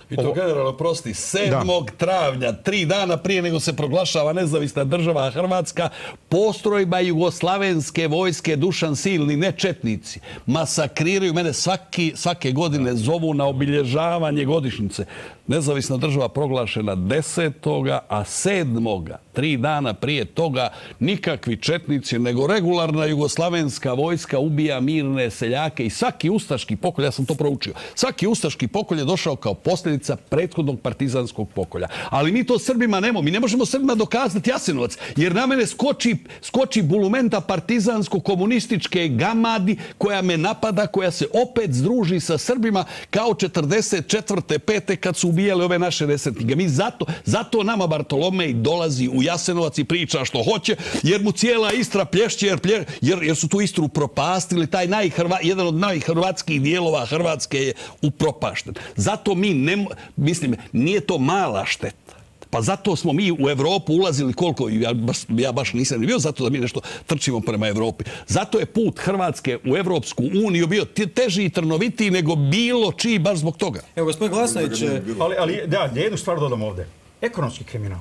I to generalno, prosti, sedmog travnja, tri dana prije nego se proglašava nezavisna država Hrvatska, postrojba jugoslavenske vojske Dušan Silni, ne četnici, masakriraju mene svaki, svake godine, zovu na obilježavanje godišnjice. Nezavisna država proglašena desetoga, a sedmoga, tri dana prije toga, nikakvi četnici, nego regularna jugoslavenska vojska ubija mirne seljake i svaki ustaški pokolj, ja sam to proučio, svaki ustaški pokolj je došao kao posljedica prethodnog partizanskog pokolja. Ali mi to Srbima nemo, mi ne možemo Srbima dokazati Jasenovac, jer na mene skoči, skoči bulumenta partizansko-komunističke gamadi koja me napada, koja se opet združi sa Srbima kao četrdeset četvrte pete kad su ubijali ove naše desetnike. Mi zato, zato nama Bartolomej dolazi u Jasenovac i priča što hoće, jer mu cijela Istra plješće, jer, plje, jer, jer su tu Istru propastili. Taj najhrva, jedan od najhrvatskih dijelova Hrvatske je upropašten. Zato mi, ne, mislim, nije to mala šteta. Pa zato smo mi u Evropu ulazili koliko, ja baš, ja baš nisam bio zato da mi nešto trčimo prema Evropi. Zato je put Hrvatske u Evropsku uniju bio teži i trnovitiji nego bilo čiji baš zbog toga. Evo, gospodin Glasnović... Ali, ali da, jednu stvar dodam ovdje. Ekonomski kriminal.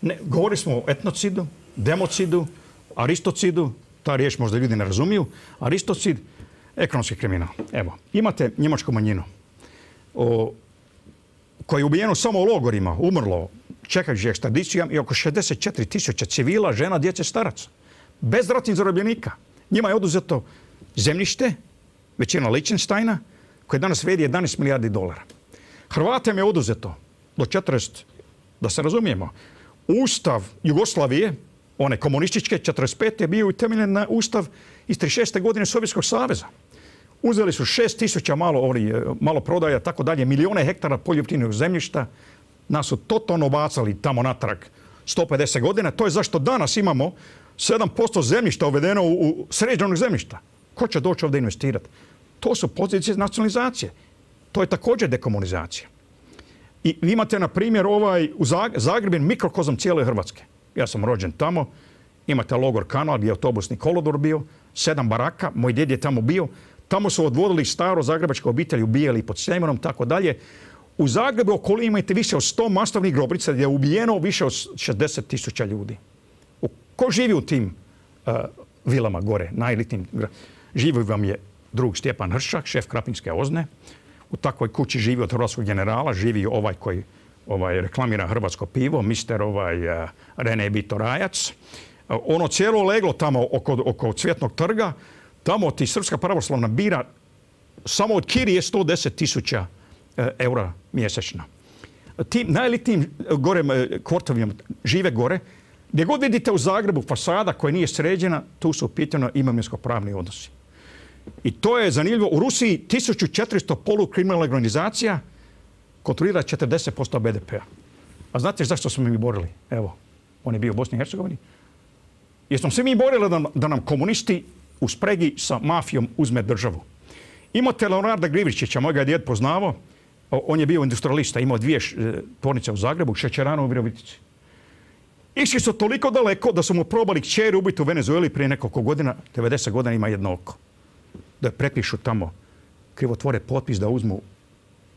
Ne, govorili smo o etnocidu, democidu, aristocidu, ta riječ možda ljudi ne razumiju. Aristocid, ekonomski kriminal. Evo, imate njemačku manjinu o, koja je ubijeno samo u logorima, umrlo, čekajući ekstradicijom i oko šezdeset četiri tisuće civila, žena, djece, staraca. Bez ratnih zarobljenika. Njima je oduzeto zemljište, većina Liechtensteina, koje danas vrijedi jedanaest milijardi dolara. Hrvatima je oduzeto do četrdeset, da se razumijemo, Ustav Jugoslavije, one komunističke, četrdeset pete je bio utemeljen na Ustav iz trideset šeste godine Sovjetskog saveza. Uzeli su šest tisuća malo, malo prodaja, tako dalje, milijone hektara poljoprivrednog zemljišta. Nas su totalno bacali tamo natrag sto pedeset godina. To je zašto danas imamo sedam posto zemljišta uvedeno u, u sređenog zemljišta. Ko će doći ovdje investirati? To su pozicije nacionalizacije. To je također dekomunizacija. I vi imate, na primjer, ovaj, u Zagreb je mikrokozam cijele Hrvatske. Ja sam rođen tamo. Imate logor Kanal gdje je autobusni kolodvor bio, sedam baraka, moj djed je tamo bio. Tamo su odvodili staro zagrebačke obitelji, ubijali pod Sljeminom, tako dalje. U Zagrebu okolini imate više od sto masovnih grobrica gdje je ubijeno više od šezdeset tisuća ljudi. U, ko živi u tim uh, vilama gore, najelitnim? Živi vam je drug Stjepan Hršak, šef Krapinske Ozne. U takvoj kući živi od hrvatskog generala, živi ovaj koji ovaj, reklamira hrvatsko pivo, mister ovaj, uh, Rene Bitorajac. Uh, ono cijelo leglo tamo oko, oko Cvjetnog trga, Tamo ti Srpska pravoslavna bira samo od kirije sto deset tisuća eura mjesečno. Tim najelitnijim gore kvartovima žive gore. Gdje god vidite u Zagrebu fasada koja nije sređena, tu su u pitanju imovinsko-pravni odnosi. I to je zanimljivo. U Rusiji tisuću četiristo polukriminalnih organizacija kontrolira četrdeset posto be de pea. A znate zašto smo mi borili? Evo, on je bio u Bosni i Hercegovini. Jer smo se mi borili da, da nam komunisti u spregi sa mafijom uzme državu. Imate Leonarda Grivričića, moj ga je djed poznavao. On je bio industrialista, imao dvije tvornice u Zagrebu, šećeranu u Virovitici. Išli su toliko daleko da su mu probali kćer ubiti u Venezueli prije nekoliko godina, devedeset godina ima jedno oko. Da je prepišu tamo, krivotvore potpis da uzmu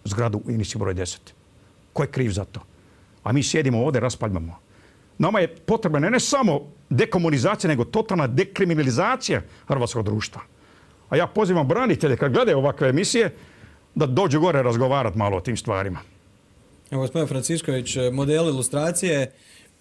zgradu u Inici broj deset. Ko je kriv za to? A mi sjedimo ovdje, raspaljamo. Nama je potrebna ne, ne samo dekomunizacija, nego totalna dekriminalizacija hrvatskog društva. A ja pozivam branitelje kad gledaju ovakve emisije da dođu gore razgovarati malo o tim stvarima. Evo, gospodin Francišković, model ilustracije,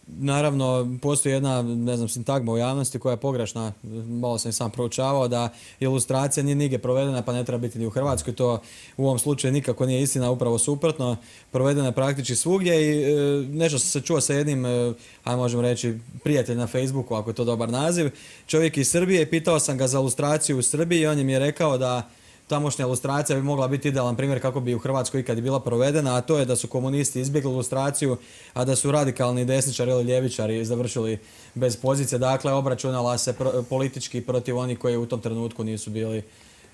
naravno, postoji jedna, ne znam, sintagma u javnosti koja je pogrešna. Malo sam i sam proučavao da ilustracija nije nigdje provedena, pa ne treba biti ni u Hrvatskoj. To u ovom slučaju nikako nije istina, upravo suprotno. Provedena je praktički svugdje i e, nešto sam se čuo sa jednim, e, ajmo možemo reći, prijatelj na Facebooku, ako je to dobar naziv. Čovjek iz Srbije, pitao sam ga za ilustraciju u Srbiji i on je mi je rekao da tamošnja ilustracija bi mogla biti idealan primjer kako bi u Hrvatskoj ikad bila provedena, a to je da su komunisti izbjegli ilustraciju, a da su radikalni desničari ili ljevičari završili bez pozicije. Dakle, obračunala se pro, politički protiv onih koji u tom trenutku nisu bili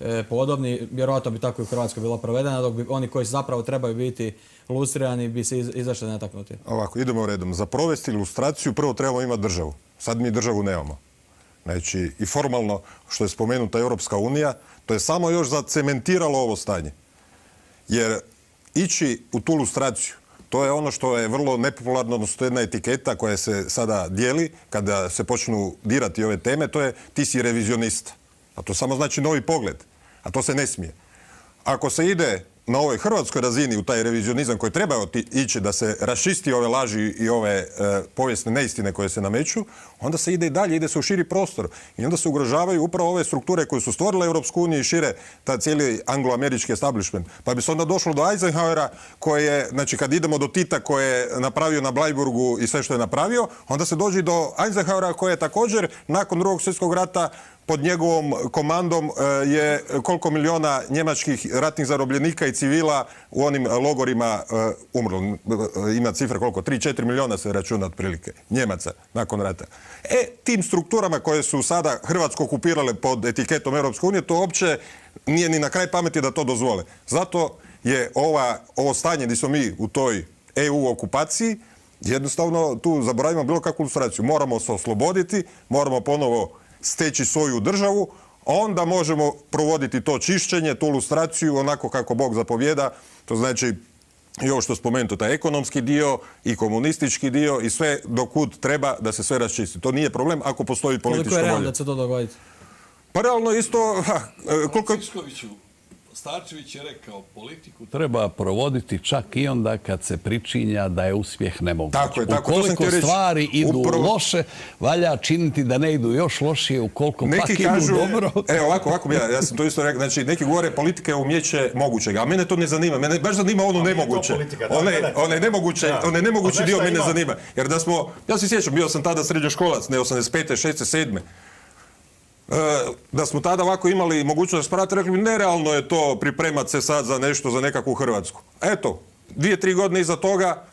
e, podobni. Vjerojatno bi tako i u Hrvatskoj bila provedena, dok bi oni koji zapravo trebaju biti ilustrirani bi se iz, izašli netaknuti. Ovako, idemo redom. Za provesti ilustraciju prvo trebamo imati državu. Sad mi državu nemamo. Znači, i formalno, što je spomenuta Europska unija, to je samo još zacementiralo ovo stanje. Jer ići u tu ilustraciju, to je ono što je vrlo nepopularno, odnosno to je jedna etiketa koja se sada dijeli kada se počnu dirati ove teme, to je ti si revizionista. A to samo znači novi pogled, a to se ne smije. Ako se ide na ovoj hrvatskoj razini u taj revizionizam koji treba ići da se raščisti ove laži i ove e, povijesne neistine koje se nameću, onda se ide i dalje, ide se u širi prostor. I onda se ugrožavaju upravo ove strukture koje su stvorile Europsku uniju i šire ta cijeli anglo-američki establishment. Pa bi se onda došlo do Eisenhowera koje je, znači kad idemo do Tita koje je napravio na Bleiburgu i sve što je napravio, onda se dođe do Eisenhowera koje je također nakon drugog svjetskog rata pod njegovom komandom je koliko miliona njemačkih ratnih zarobljenika i civila u onim logorima umrlo. Ima cifra koliko? tri četiri miliona se računa otprilike Njemaca nakon rata. E, tim strukturama koje su sada Hrvatsku okupirale pod etiketom Europske unije, to uopće nije ni na kraj pameti da to dozvole. Zato je ova, ovo stanje gdje smo mi u toj E U okupaciji, jednostavno tu zaboravimo bilo kakvu ilustraciju. Moramo se osloboditi, moramo ponovo steći svoju državu, onda možemo provoditi to čišćenje, tu ilustraciju onako kako Bog zapovjeda. To znači i ovo što spomenuto, taj ekonomski dio i komunistički dio i sve dokud treba da se sve raščisti. To nije problem ako postoji politička volja. Koliko je realno da se to dogoditi? Pa realno isto... Ha, koliko... Starčević je rekao, politiku treba provoditi čak i onda kad se pričinja da je uspjeh nemoguć. Tako je, tako, ukoliko stvari idu upravo... loše, valja činiti da ne idu još lošije, ukoliko neki pak kažu, idu dobro. Evo, ovako, ovako, ja, ja sam to isto rekao, znači neki govore politika je umjeće mogućega, a mene to ne zanima, mene baš zanima ono nemoguće. One, one nemoguće, ja. one nemogući dio mene zanima. Jer da smo, ja se sjećam, bio sam tada srednjoškolac, ne osamdeset pete, šeste, sedme Da smo tada ovako imali mogućnost raspravati, rekli bi nerealno je to pripremati se sad za nešto, za nekakvu Hrvatsku. Eto, dvije, tri godine iza toga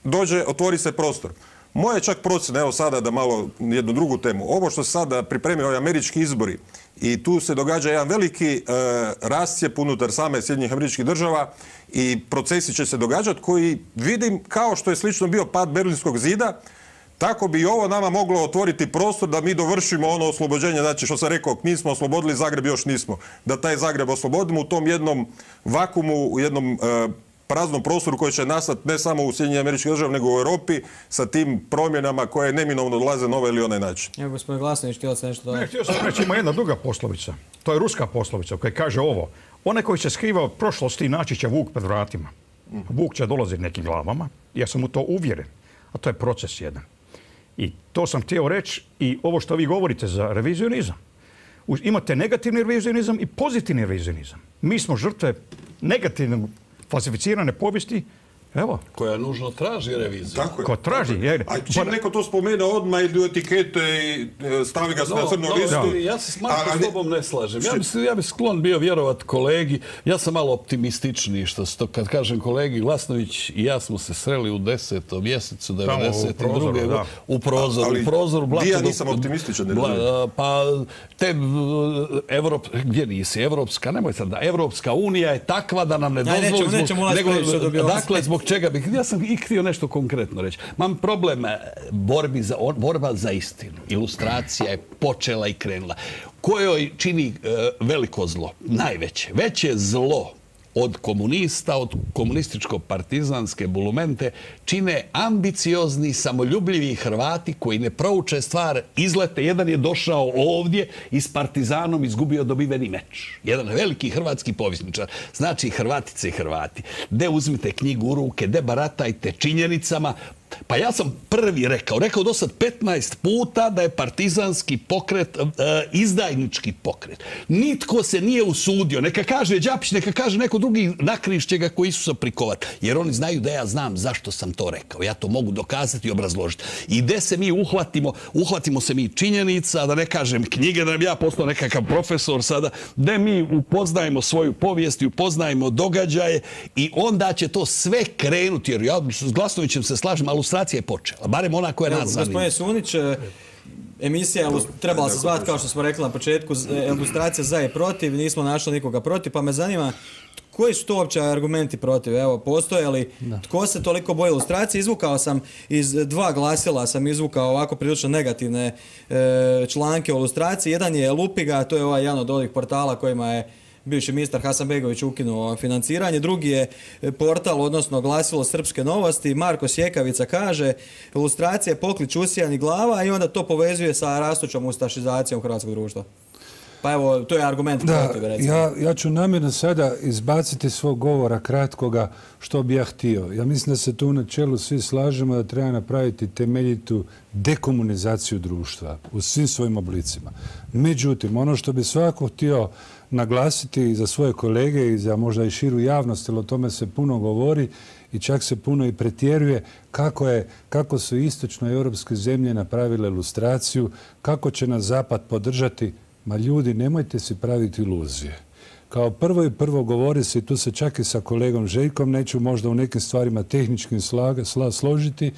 dođe, otvori se prostor. Moja čak procjena, evo sada da malo jednu drugu temu, ovo što se sada pripremio ovi američki izbori i tu se događa jedan veliki e, rascijep unutar same Sjedinjenih Američkih Država i procesi će se događati koji vidim kao što je slično bio pad Berlinskog zida, tako bi i ovo nama moglo otvoriti prostor da mi dovršimo ono oslobođenje, znači što sam rekao, mi smo oslobodili, Zagreb još nismo. Da taj Zagreb oslobodimo u tom jednom vakumu, u jednom e, praznom prostoru koji će nastati ne samo u Sjedinjenim Američkih Državama, nego u Europi sa tim promjenama koje neminovno dolaze na ovaj ili onaj način. Evo, gospodin Glasnović, htio sam nešto dodati. Ne, htio sam reći, ima jedna druga poslovica. To je ruska poslovica koja kaže ovo. Onaj koji se skriva od prošlosti naći će vuk pred vratima. Vuk će dolaziti nekim glavama. Ja sam u to uvjeren. A to je proces jedan. I to sam htio reći i ovo što vi govorite za revizionizam. Imate negativni revizionizam i pozitivni revizionizam. Mi smo žrtve negativne falsificirane povijesti. Evo. Koja nužno traži reviziju. Tako je. Ko traži. Jer, a čim neko to spomene odmah ili u etikete i stavi ga na crnu listu. Ja se s Marko s tobom ne slažem. Ja bi, ja bi sklon bio vjerovat kolegi. Ja sam malo optimističniji što to, kad kažem kolegi Glasnović i ja smo se sreli u desetom mjesecu devedeset druge. U prozoru. Ali, u prozoru. Ali ja nisam optimističan. Ne bla, pa te Evrop, gdje nisi? Evropska, nemoj sad da. Evropska unija je takva da nam ne dozvoli. Nećemo, nećemo nego, dakle, zbog čega bih, ja sam i htio nešto konkretno reći. Mam problem borbi za, borba za istinu. Ilustracija je počela i krenula. Kojoj čini e, veliko zlo? Najveće. Veće zlo od komunista, od komunističko-partizanske bulumente čine ambiciozni, samoljubljivi Hrvati koji ne prouče stvar, izlete. Jedan je došao ovdje i s Partizanom izgubio dobiveni meč. Jedan veliki hrvatski povjesničar. Znači, Hrvatice i Hrvati, de uzmite knjigu u ruke, de baratajte činjenicama. Pa ja sam prvi rekao, rekao do sad petnaest puta da je partizanski pokret e, izdajnički pokret. Nitko se nije usudio. Neka kaže Đapić, neka kaže neko drugi, nakrišće ga koji su se prikovat. Jer oni znaju da ja znam zašto sam to rekao. Ja to mogu dokazati i obrazložiti. I gde se mi uhvatimo, uhvatimo se mi činjenica, da ne kažem knjige, da nam ja postao nekakav profesor sada, gde mi upoznajemo svoju povijest i upoznajemo događaje i onda će to sve krenuti. Jer ja s Glasnovićem se slažem, ali ilustracija je počela. Barem ona koja nas zanima. Gospodine Sunić, emisija trebala se zvati, kao što smo rekli na početku, ilustracija za i protiv. Nismo našli nikoga protiv, pa me zanima koji su to uopće argumenti protiv? Evo, postoje li? Tko se toliko boji ilustracije? Izvukao sam iz dva glasila, sam izvukao ovako prilično negativne e, članke o ilustraciji. Jedan je Lupiga, to je ovaj jedan od ovih portala kojima je bivši ministar Hasanbegović ukinuo financiranje. Drugi je portal, odnosno glasilo Srpske novosti. Marko Sjekavica kaže ilustracija je poklič usijanih glava i onda to povezuje sa rastućom ustašizacijom hrvatskog društva. Pa evo, to je argument protiv, recimo. Ja, ja ću namjerno sada izbaciti svog govora kratkoga što bi ja htio. Ja mislim da se tu u načelu svi slažemo da treba napraviti temeljitu dekomunizaciju društva u svim svojim oblicima. Međutim, ono što bi svako htio naglasiti i za svoje kolege i za možda i širu javnost, jer o tome se puno govori i čak se puno i pretjeruje kako, je, kako su istočnoeuropske zemlje napravile ilustraciju, kako će nas Zapad podržati. Ma ljudi, nemojte si praviti iluzije. Kao prvo i prvo govori se, i tu se čak i sa kolegom Željkom, neću možda u nekim stvarima tehničkim slaga, sla, složiti,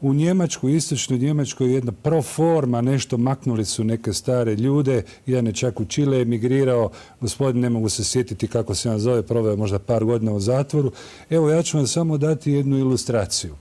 u Njemačku, istočnoj Njemačkoj jedna proforma, nešto maknuli su neke stare ljude, jedan je čak u Čile emigrirao, gospodin ne mogu se sjetiti kako se on zove, proveo možda par godina u zatvoru. Evo, ja ću vam samo dati jednu ilustraciju.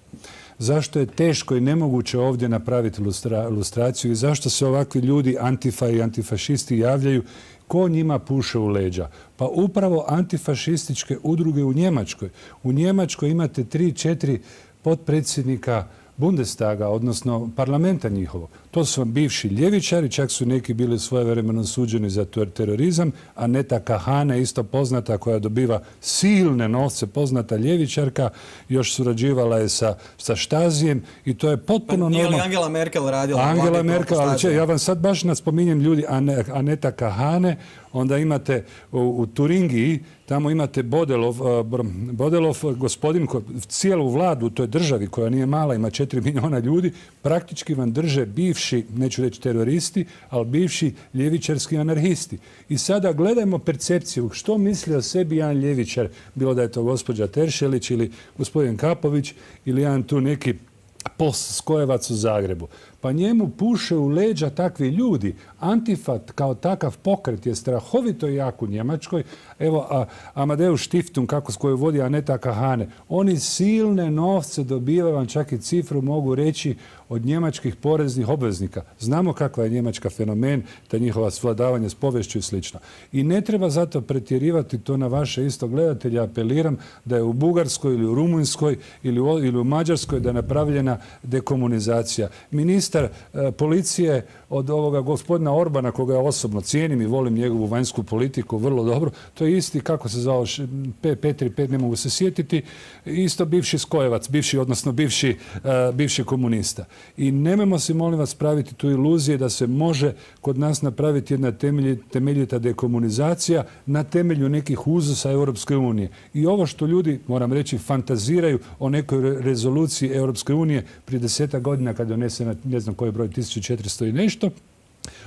Zašto je teško i nemoguće ovdje napraviti ilustra, ilustraciju i zašto se ovakvi ljudi, antifa i antifašisti, javljaju, ko njima puše u leđa? Pa upravo antifašističke udruge u Njemačkoj. U Njemačkoj imate tri, četiri potpredsjednika Bundestaga, odnosno parlamenta njihovog. To su vam bivši ljevičari, čak su neki bili svojevremeno suđeni za terorizam. Aneta Kahane, isto poznata, koja dobiva silne novce, poznata ljevičarka, još surađivala je sa, sa Štazijem i to je potpuno normalno. Pa nije li Angela Merkel radila? Angela Merkel, ali će, ja vam sad baš naspominjem ljudi, Aneta Kahane, onda imate u, u Turingiji, tamo imate Bodelov, Bodelov gospodin, cijelu vladu u toj državi koja nije mala, ima četiri milijuna ljudi, praktički vam drže bivši, neću reći teroristi, ali bivši ljevičarski anarhisti. I sada gledajmo percepciju, što misli o sebi jedan ljevičar, bilo da je to gospođa Teršelić ili gospodin Kapović ili jedan tu neki skojevac u Zagrebu. Pa njemu puše u leđa takvi ljudi. Antifat kao takav pokret je strahovito jak u Njemačkoj. Evo, a, Amadeus Stiftung, kako s koju vodi Aneta Kahane, oni silne novce dobivaju, vam čak i cifru mogu reći, od njemačkih poreznih obveznika. Znamo kakva je Njemačka fenomen, ta njihova svladavanje s povješću i slično. I ne treba zato pretjerivati to na vaše isto gledatelje. Apeliram da je u Bugarskoj ili u Rumunjskoj ili u, ili u Mađarskoj da je napravljena dekomunizacija. Ministar ministar policije od ovoga gospodina Orbana, koga ja osobno cijenim i volim njegovu vanjsku politiku vrlo dobro, to je isti, kako se zvao, Petri Pet, ne mogu se sjetiti, isto bivši skojevac, bivši, odnosno bivši, bivši komunista. I nemojmo si, molim vas, praviti tu iluzije da se može kod nas napraviti jedna temeljita dekomunizacija na temelju nekih uzusa Europske unije. I ovo što ljudi, moram reći, fantaziraju o nekoj rezoluciji Europske unije prije desetak godina kad je donesena, ne znam koji broj, tisuću četiristo i nešto,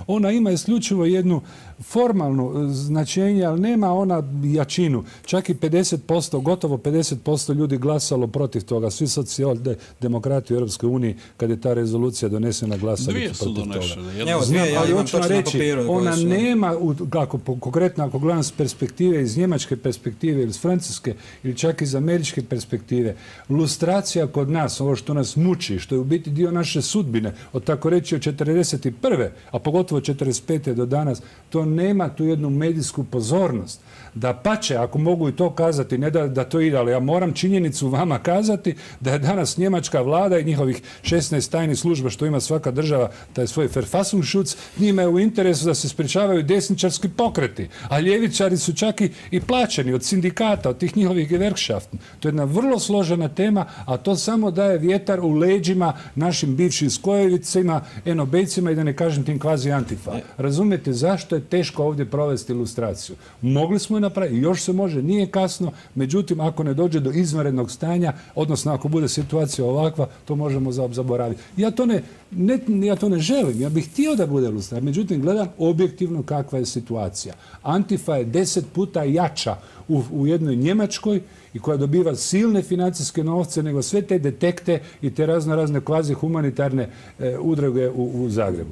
ona ima isključivo jednu formalnu značenje, ali nema ona jačinu. Čak i pedeset posto, gotovo pedeset posto ljudi glasalo protiv toga. Svi socijaldemokrati u Europskoj uniji, kad je ta rezolucija donesena, glasali Dvije su protiv toga. donešene. Evo, dvije, ja imam točno na papiru. Ona nema, kako, konkretno ako gledam s perspektive, iz njemačke perspektive ili iz francuske ili čak iz američke perspektive, lustracija kod nas, ovo što nas muči, što je u biti dio naše sudbine, od tako reći od četrdeset prve, a pogotovo četrdeset pete do danas, to nema tu jednu medijsku pozornost. Da pače, ako mogu i to kazati, ne da, da to ide, ali ja moram činjenicu vama kazati da je danas njemačka vlada i njihovih šesnaest tajnih služba što ima svaka država, taj svoj Verfassungsschutz, njima je u interesu da se sprečavaju desničarski pokreti, a ljevičari su čak i, i plaćeni od sindikata, od tih njihovih Gewerkschaften. To je jedna vrlo složena tema, a to samo daje vjetar u leđima našim bivšim skojevicima, enobejcima i da ne kažem tim kvazi antifa. Razumijete zašto je teško ovdje provesti ilustraciju? Mogli smo je napraviti, još se može, nije kasno, međutim ako ne dođe do izvanrednog stanja, odnosno ako bude situacija ovakva, to možemo zaboraviti. Ja to ne, ne, ja to ne želim, ja bih htio da bude ilustracija, međutim gledam objektivno kakva je situacija. Antifa je deset puta jača u, u jednoj Njemačkoj i koja dobiva silne financijske novce nego sve te detekte i te razno razne kvazi humanitarne e, udruge u, u Zagrebu.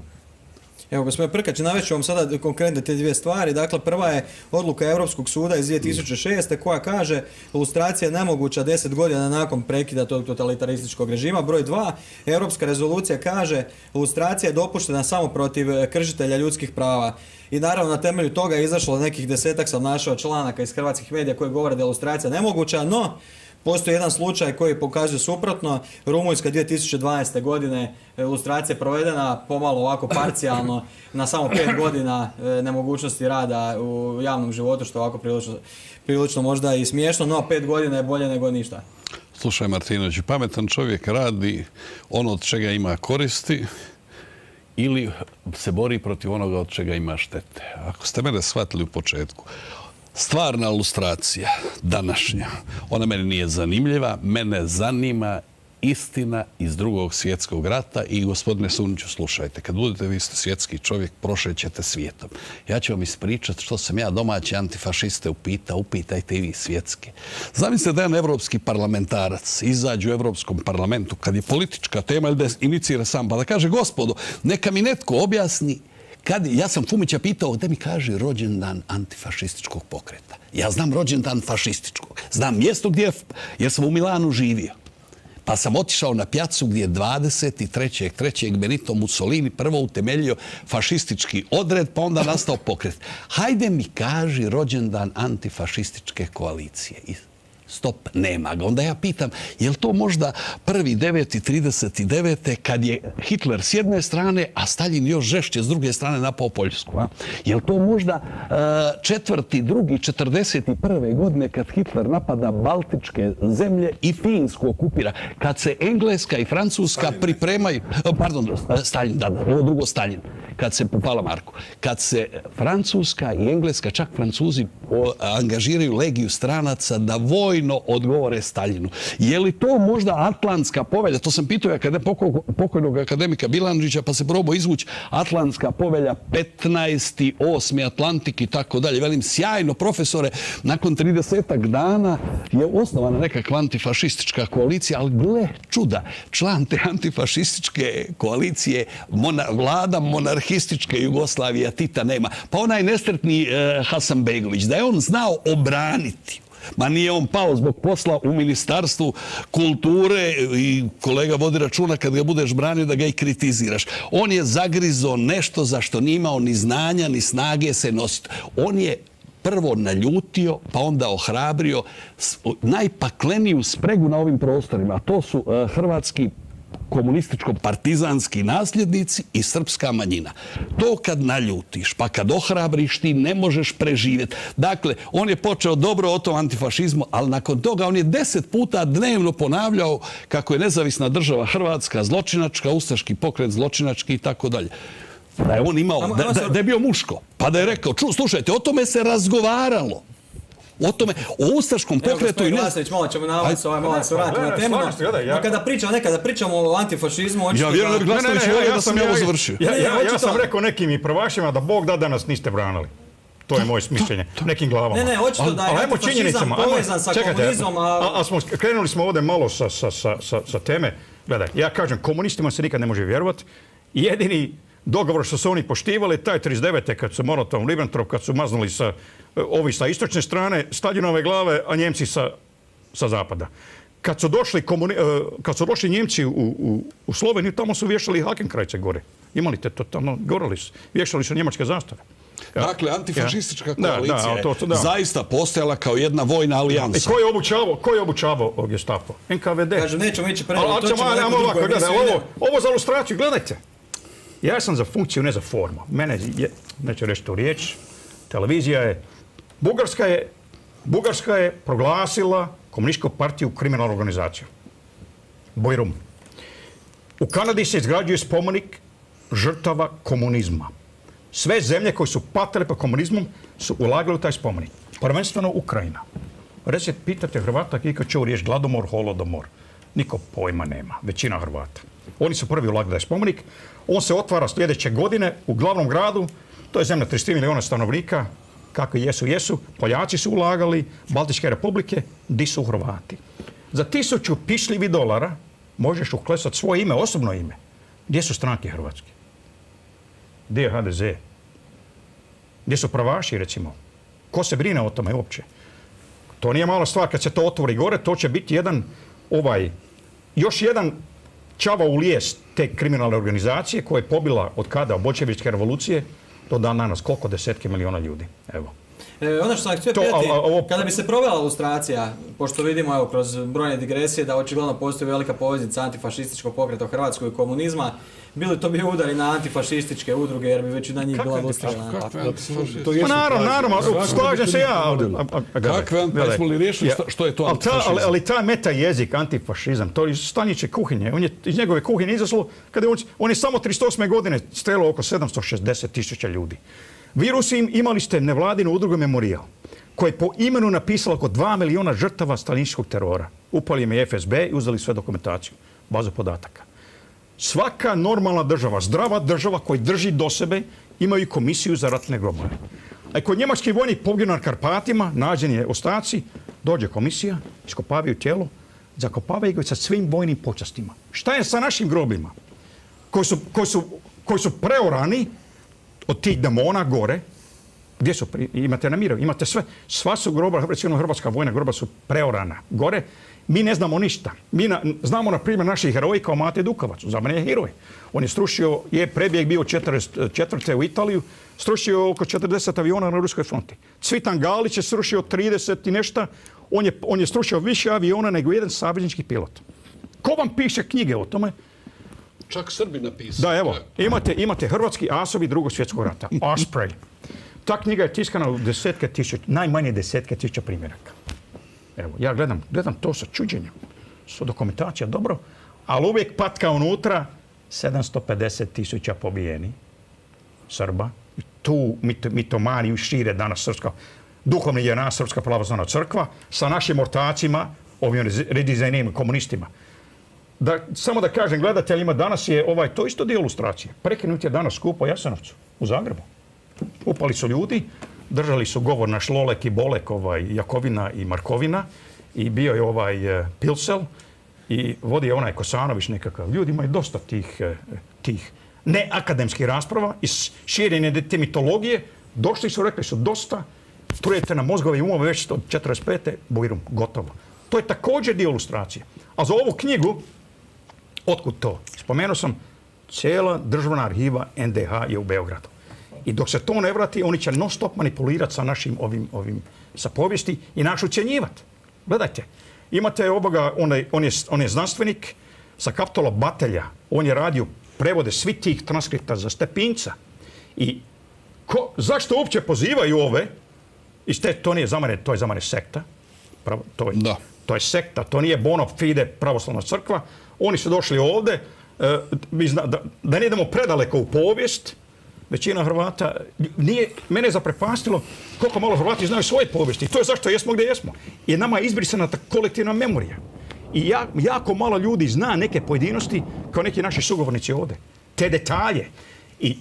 Evo, gospodine Prkač, navest ću vam sada konkretne te dvije stvari. Dakle, prva je odluka Europskog suda iz dvije tisuće šeste koja kaže lustracija je nemoguća deset godina nakon prekida tog totalitarističkog režima. Broj dva, Europska rezolucija kaže lustracija je dopuštena samo protiv kršitelja ljudskih prava. I naravno na temelju toga je izašlo nekih desetak, sam našao članaka iz hrvatskih medija koji govore da je lustracija nemoguća, no postoji jedan slučaj koji pokazuje suprotno. Rumunjska dvije tisuće dvanaeste. godine lustracija je provedena pomalo ovako parcijalno na samo pet godina nemogućnosti rada u javnom životu, što je ovako prilično, prilično možda i smiješno, no pet godina je bolje nego ništa. Slušaj Martinović, pametan čovjek radi ono od čega ima koristi ili se bori protiv onoga od čega ima štete. Ako ste mene shvatili u početku, stvarna lustracija, današnja, ona meni nije zanimljiva, mene zanima istina iz drugog svjetskog rata i gospodine Suniću, slušajte, kad budete, vi ste svjetski čovjek, prošećete svijetom. Ja ću vam ispričati što sam ja domaći antifašiste upitao, upitajte i vi svjetski. Zamislite da jedan evropski parlamentarac izađe u Evropskom parlamentu kad je politička tema ili da inicira sam, pa da kaže, gospodo, neka mi netko objasni. Kad, ja sam Fumića pitao gdje mi kaže rođendan antifašističkog pokreta. Ja znam rođendan fašističkog. Znam mjesto gdje, jer sam u Milanu živio. Pa sam otišao na pjacu gdje je dvadeset trećeg trećeg Benito Mussolini prvo utemeljio fašistički odred, pa onda nastao pokret. Hajde mi kaži rođendan antifašističke koalicije. Stop, nema ga. Onda ja pitam, je li to možda prvi deveti trideset devete kad je Hitler s jedne strane, a Staljin još žešće s druge strane napao Poljsku? A? Je li to možda četvrti drugi četrdeset prve godine kad Hitler napada Baltičke zemlje i Finsku okupira? Kad se Engleska i Francuska Stalin, pripremaju... Pardon, Staljin, da, da, ovo drugo Staljin. Kad se, hvala Marku, kad se Francuska i Engleska, čak Francuzi, angažiraju legiju stranaca da vojno odgovore Staljinu. Je li to možda Atlantska povelja? To sam pitao pokojnog akademika Bilandžića, pa se probao izvući Atlantska povelja, petnaesti osmi Atlantik i tako dalje. Velim, sjajno, profesore, nakon tridesetak dana je osnovana nekakva antifašistička koalicija, ali gle čuda, član te antifašističke koalicije, mona, vlada monarhističke Jugoslavije, Tita nema. Pa onaj nesretni eh, Hasanbegović, da je on znao obraniti. Ma nije on pao zbog posla u Ministarstvu kulture i kolega vodi računa kad ga budeš branio da ga i kritiziraš. On je zagrizo nešto za što nije imao ni znanja ni snage se nositi. On je prvo naljutio, pa onda ohrabrio najpakleniju spregu na ovim prostorima. To su uh, hrvatski komunističko-partizanski nasljednici i srpska manjina. To kad naljutiš, pa kad ohrabriš, ti ne možeš preživjeti. Dakle, on je počeo dobro o tom antifašizmu, ali nakon toga on je deset puta dnevno ponavljao kako je nezavisna država Hrvatska zločinačka, ustaški pokret zločinački i tako dalje. Da je on imao, da, da, da je bio muško, pa da je rekao, ču, slušajte, o tome se razgovaralo. O tome, o ustaškom pokretu i ne... Evo, gospodin malo ćemo na ovaj, ovaj malo se vratiti na temu. No, kada pričamo, nekada pričamo o antifašizmu... Ja vjerujem da bi Glasnović volio da sam ja ovo završio. Ja, ja, ja sam rekao nekim i prvašima da Bog da da nas niste branili. To je moje mišljenje. Nekim glavama. Ne, ne, očito da je antifašizam povezan sa komunizmom, a... smo, krenuli smo ovdje malo sa, sa, sa, sa teme. Gledaj, ja kažem, komunistima se nikad ne može vjerovati. Jedini dogovor što su oni poštivali, taj trideset devete kad su Molotov-Ribbentrop, kad su maznuli sa, ovi sa istočne strane, Staljinove glave, a Njemci sa, sa zapada. Kad su došli, komuni, kad su došli Njemci u, u, u Sloveniju, tamo su vješali Hakenkrajce gore. Imali te to tamo, gorali su, vješali su njemačke zastave. Ja. Dakle, antifašistička ja. koalicija da, da, to, to, da. zaista postojala kao jedna vojna alijansa. I ko je obučavao, ko je obučavao Gestapo? N K V D. Kažem, nećemo ići prvo, to ćemo neko drugo. Gledaj, ovo, ovo za ilustraciju, gledajte. Ja sam za funkciju, ne za formu. Mene, je, neću reći tu riječ, televizija je, Bugarska je, Bugarska je proglasila komunističku partiju kriminalnu organizaciju. Bojrum. U Kanadi se izgrađuje spomenik žrtava komunizma. Sve zemlje koje su patile po komunizmom su ulagali u taj spomenik. Prvenstveno Ukrajina. Recite, pitate Hrvata kad čuo riječ gladomor, holodomor. Niko pojma nema. Većina Hrvata. Oni su prvi ulagali taj spomenik. On se otvara sljedeće godine u glavnom gradu. To je zemlja trideset tri milijuna stanovnika. Kako jesu, jesu. Poljaci su ulagali, Baltičke republike, di su Hrvati. Za tisuću pišljivi dolara možeš uklesati svoje ime, osobno ime. Gdje su stranke hrvatske? Gdje je H D Z? Gdje su pravaši, recimo? Ko se brine o tome uopće? To nije mala stvar. Kad se to otvori gore, to će biti jedan, ovaj, još jedan čavao u lijes te kriminalne organizacije koja je pobila od kada, od Boljševičke revolucije, do dan danas. Koliko desetke miliona ljudi? Evo. E, ono što sam htio pitati, ovo... kada bi se provela lustracija, pošto vidimo evo, kroz brojne digresije da očigledno postoji velika poveznica antifašističkog pokreta u Hrvatskoj i komunizma, bili to bi udari na antifašističke udruge jer bi većina njih bila lustrirana? Pa naravno, naravno, slažem se ja. Kakve antifašističke, smo li riješili što je to antifašizam? Ali taj meta jezik, antifašizam, to je iz Staniće kuhinje. On je iz njegove kuhinje izaslo, kada on je samo trideset osme godine strelao oko sedamsto šezdeset tisuća ljudi. Vi Rusi imali ste nevladinu udrugu Memorijal, koja je po imenu napisala oko dva miliona žrtava stalinističkog terora. Upali im je F S B i uzeli sve dokumentaciju, bazu podataka. Svaka normalna država, zdrava država koja drži do sebe, imaju komisiju za ratne grobove. A kod njemačkih vojnih poginuo na Karpatima, nađeni je ostaci, dođe komisija, iskopavaju tijelo, zakopavaju ga sa svim vojnim počastima. Šta je sa našim grobima? Koji su, koji su, koji su preorani od tih demona gore, gdje su, imate na Miru, imate sve, sva su groba, recimo hrvatska vojna groba su preorana gore, mi ne znamo ništa. Mi na, znamo na primjer naših heroji kao Mate Dukovac, za mene je heroj. On je strušio, je prebjeg bio četrdeset četvrte u Italiju, strušio oko četrdeset aviona na ruskoj fronti. Cvitan Galić je strušio trideset i nešto, on je, on je strušio više aviona nego jedan saveznički pilot. Ko vam piše knjige o tome? Čak Srbi napisali. Da, evo, imate, imate hrvatski asovi drugog svjetskog rata, Osprey. Ta knjiga je tiskana u desetke tisuća, najmanje desetke tisuća primjeraka. Evo, ja gledam, gledam to sa čuđenjem. Su dokumentacija dobro, ali uvijek patka unutra sedamsto pedeset tisuća pobijeni Srba. I tu mitomaniju šire danas srpska, duhovni je nas srpska pravoslavna crkva sa našim ortacima, ovim redizajnim komunistima. Da, samo da kažem gledateljima, danas je ovaj, to isto dio ilustracije. Prekinut je danas skup u Jasenovcu, u Zagrebu. Upali su ljudi, držali su govor naš Lolek i Bolek, ovaj, Jakovina i Markovina i bio je ovaj uh, Pilsel i vodi je onaj Kosanović nekakav. Ljudi imaju dosta tih, uh, tih neakademskih rasprava i širenje te mitologije. Došli su, rekli su dosta, trujete na mozgove i umove već od četrdeset pete Bujrum, gotovo. To je također dio ilustracije. A za ovu knjigu, otkud to? Spomenuo sam, cijela državna arhiva N D H je u Beogradu. I dok se to ne vrati, oni će non stop manipulirati sa našim ovim, ovim sa povijesti i naš ucjenjivati. Gledajte, imate ovoga, on je, on je, on je znanstvenik, sa Kaptola Batelja. On je radio prevode svih tih transkripta za Stepinca. I ko, zašto uopće pozivaju ove? Iz te, to nije za mene, to je za mene sekta. Pravo, to, je, Da. to je sekta, to nije bona fide pravoslavna crkva. Oni su došli ovdje, e, mi zna, da, da ne idemo predaleko u povijest. Većina Hrvata, nije, mene je zaprepastilo koliko malo Hrvati znaju svoje povijesti. I to je zašto jesmo gdje jesmo. Jer nama je izbrisana ta kolektivna memorija. I ja, jako malo ljudi zna neke pojedinosti kao neki naši sugovornici ovdje. Te detalje. I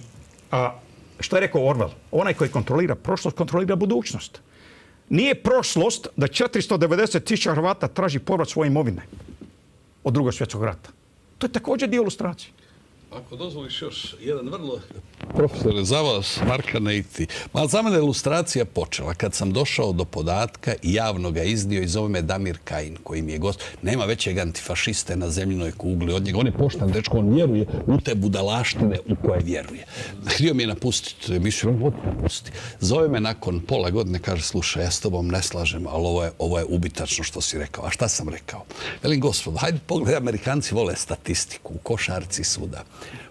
a, što je rekao Orwell? Onaj koji kontrolira prošlost, kontrolira budućnost. Nije prošlost da četiristo devedeset tisuća Hrvata traži povrat svoje imovine od Drugog svjetskog rata. To je također dio ilustracije. Ako dozvoliš još jedan vrlo... Profesore, za vas, Markane i ti. Ma za mene ilustracija počela kad sam došao do podatka i javno ga iznio i zove me Damir Kajin, koji mi je gost. Nema većeg antifašiste na zemljinoj kugli od njega. On je poštan dečko, on vjeruje u te budalaštine u koje vjeruje. Htio mi je napustiti emisiju, on vodi napusti. Zove me nakon pola godine, kaže, slušaj, ja s tobom ne slažem, ali ovo je, ovo je ubitačno što si rekao. A šta sam rekao? Velim, gospod, hajde pogledaj, Amerikanci vole statistiku u košarci svuda.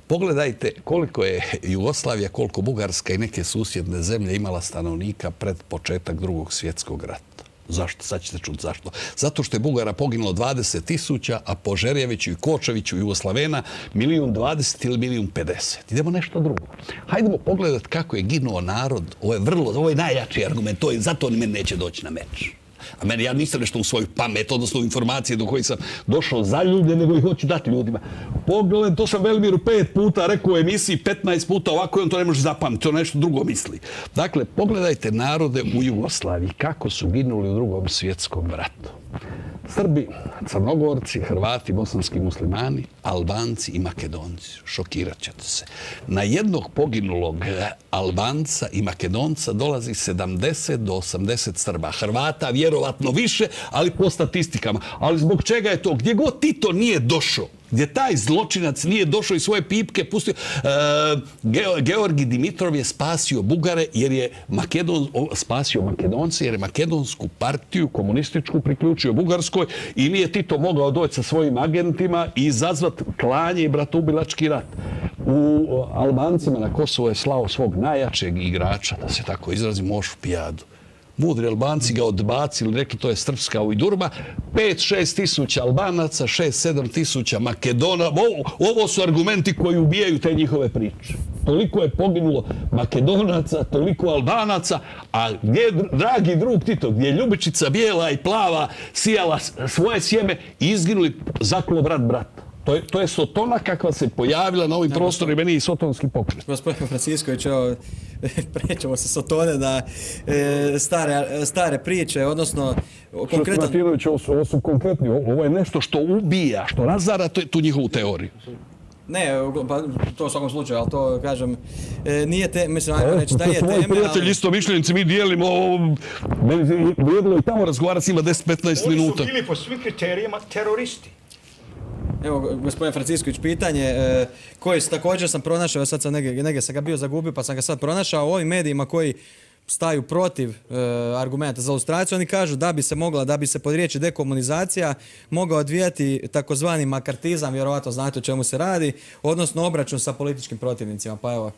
Pogledajte koliko je Jugoslavija, koliko Bugarska i neke susjedne zemlje imala stanovnika pred početak Drugog svjetskog rata. Zašto? Sad ćete čuti zašto. Zato što je Bugara poginulo dvadeset tisuća, a po Žerjeviću i Kočeviću Jugoslavena milijun dvadeset ili milijun pedeset. Idemo nešto drugo. Hajdemo pogledati kako je ginuo narod. Ovo je vrlo, ovo je najjači argument. To je, zato oni meni neće doći na meč. A meni, ja nisam nešto u svoju pamet, odnosno u informacije do kojih sam došao za ljude, nego ih hoću dati ljudima. Pogled, to sam Velimiru pet puta rekao u emisiji, petnaest puta ovako i on to ne može zapamtiti, to nešto drugo misli. Dakle, pogledajte narode u Jugoslaviji, kako su ginuli u Drugom svjetskom ratu. Srbi, Crnogorci, Hrvati, bosanski muslimani, Albanci i Makedonci. Šokirat ćete se. Na jednog poginulog Albanca i Makedonca dolazi sedamdeset do osamdeset Srba. Hrvata vjerovatno više, ali po statistikama. Ali zbog čega je to? Gdje god Tito nije došao, gdje taj zločinac nije došao i svoje pipke pustio. E, Georgi Dimitrov je spasio Bugare jer je Makedon, spasio Makedonce jer je makedonsku partiju komunističku priključio Bugarskoj i nije Tito mogao doći sa svojim agentima i izazvati klanje i bratoubilački rat. U Albancima na Kosovo je slao svog najjačeg igrača, da se tako izrazi, Mošu Pijadu. Mudri Albanci ga odbacili, rekli to je srpska ujdurma. pet šest tisuća Albanaca, šest sedam tisuća Makedona. Ovo, ovo su argumenti koji ubijaju te njihove priče. Toliko je poginulo Makedonaca, toliko Albanaca, a gdje je, dragi drug Tito, gdje je Ljubičica bijela i plava sijala svoje sjeme i izginuli, zaklo brat brata. To je, to je Sotona kakva se pojavila na ovim prostorima, meni i sotonski pokret. Gospodin Francisković, evo, prećemo se Sotone na e, stare, stare priče, odnosno konkretan... Martinović, ovo su, ovo su konkretni, ovo je nešto što ubija, što razara tu njihovu teoriju. Ne, pa to u svakom slučaju, ali to, kažem, e, nije te, mislim, ajmo reći, da je teme, ali... Prijatelji, isto mišljenici, mi dijelimo, meni je vrijedilo i tamo razgovarati s njima deset petnaest minuta. Oni su bili po svim kriterijima teroristi. Evo, gospodin Francisković, pitanje e, koje također sam pronašao, sad sam negdje, negdje sam ga bio zagubio, pa sam ga sad pronašao u ovim medijima koji staju protiv e, argumenta za ilustraciju. Oni kažu da bi se mogla, da bi se pod riječi dekomunizacija mogao odvijati takozvani makartizam, vjerovatno znate o čemu se radi, odnosno obračun sa političkim protivnicima. Pa evo.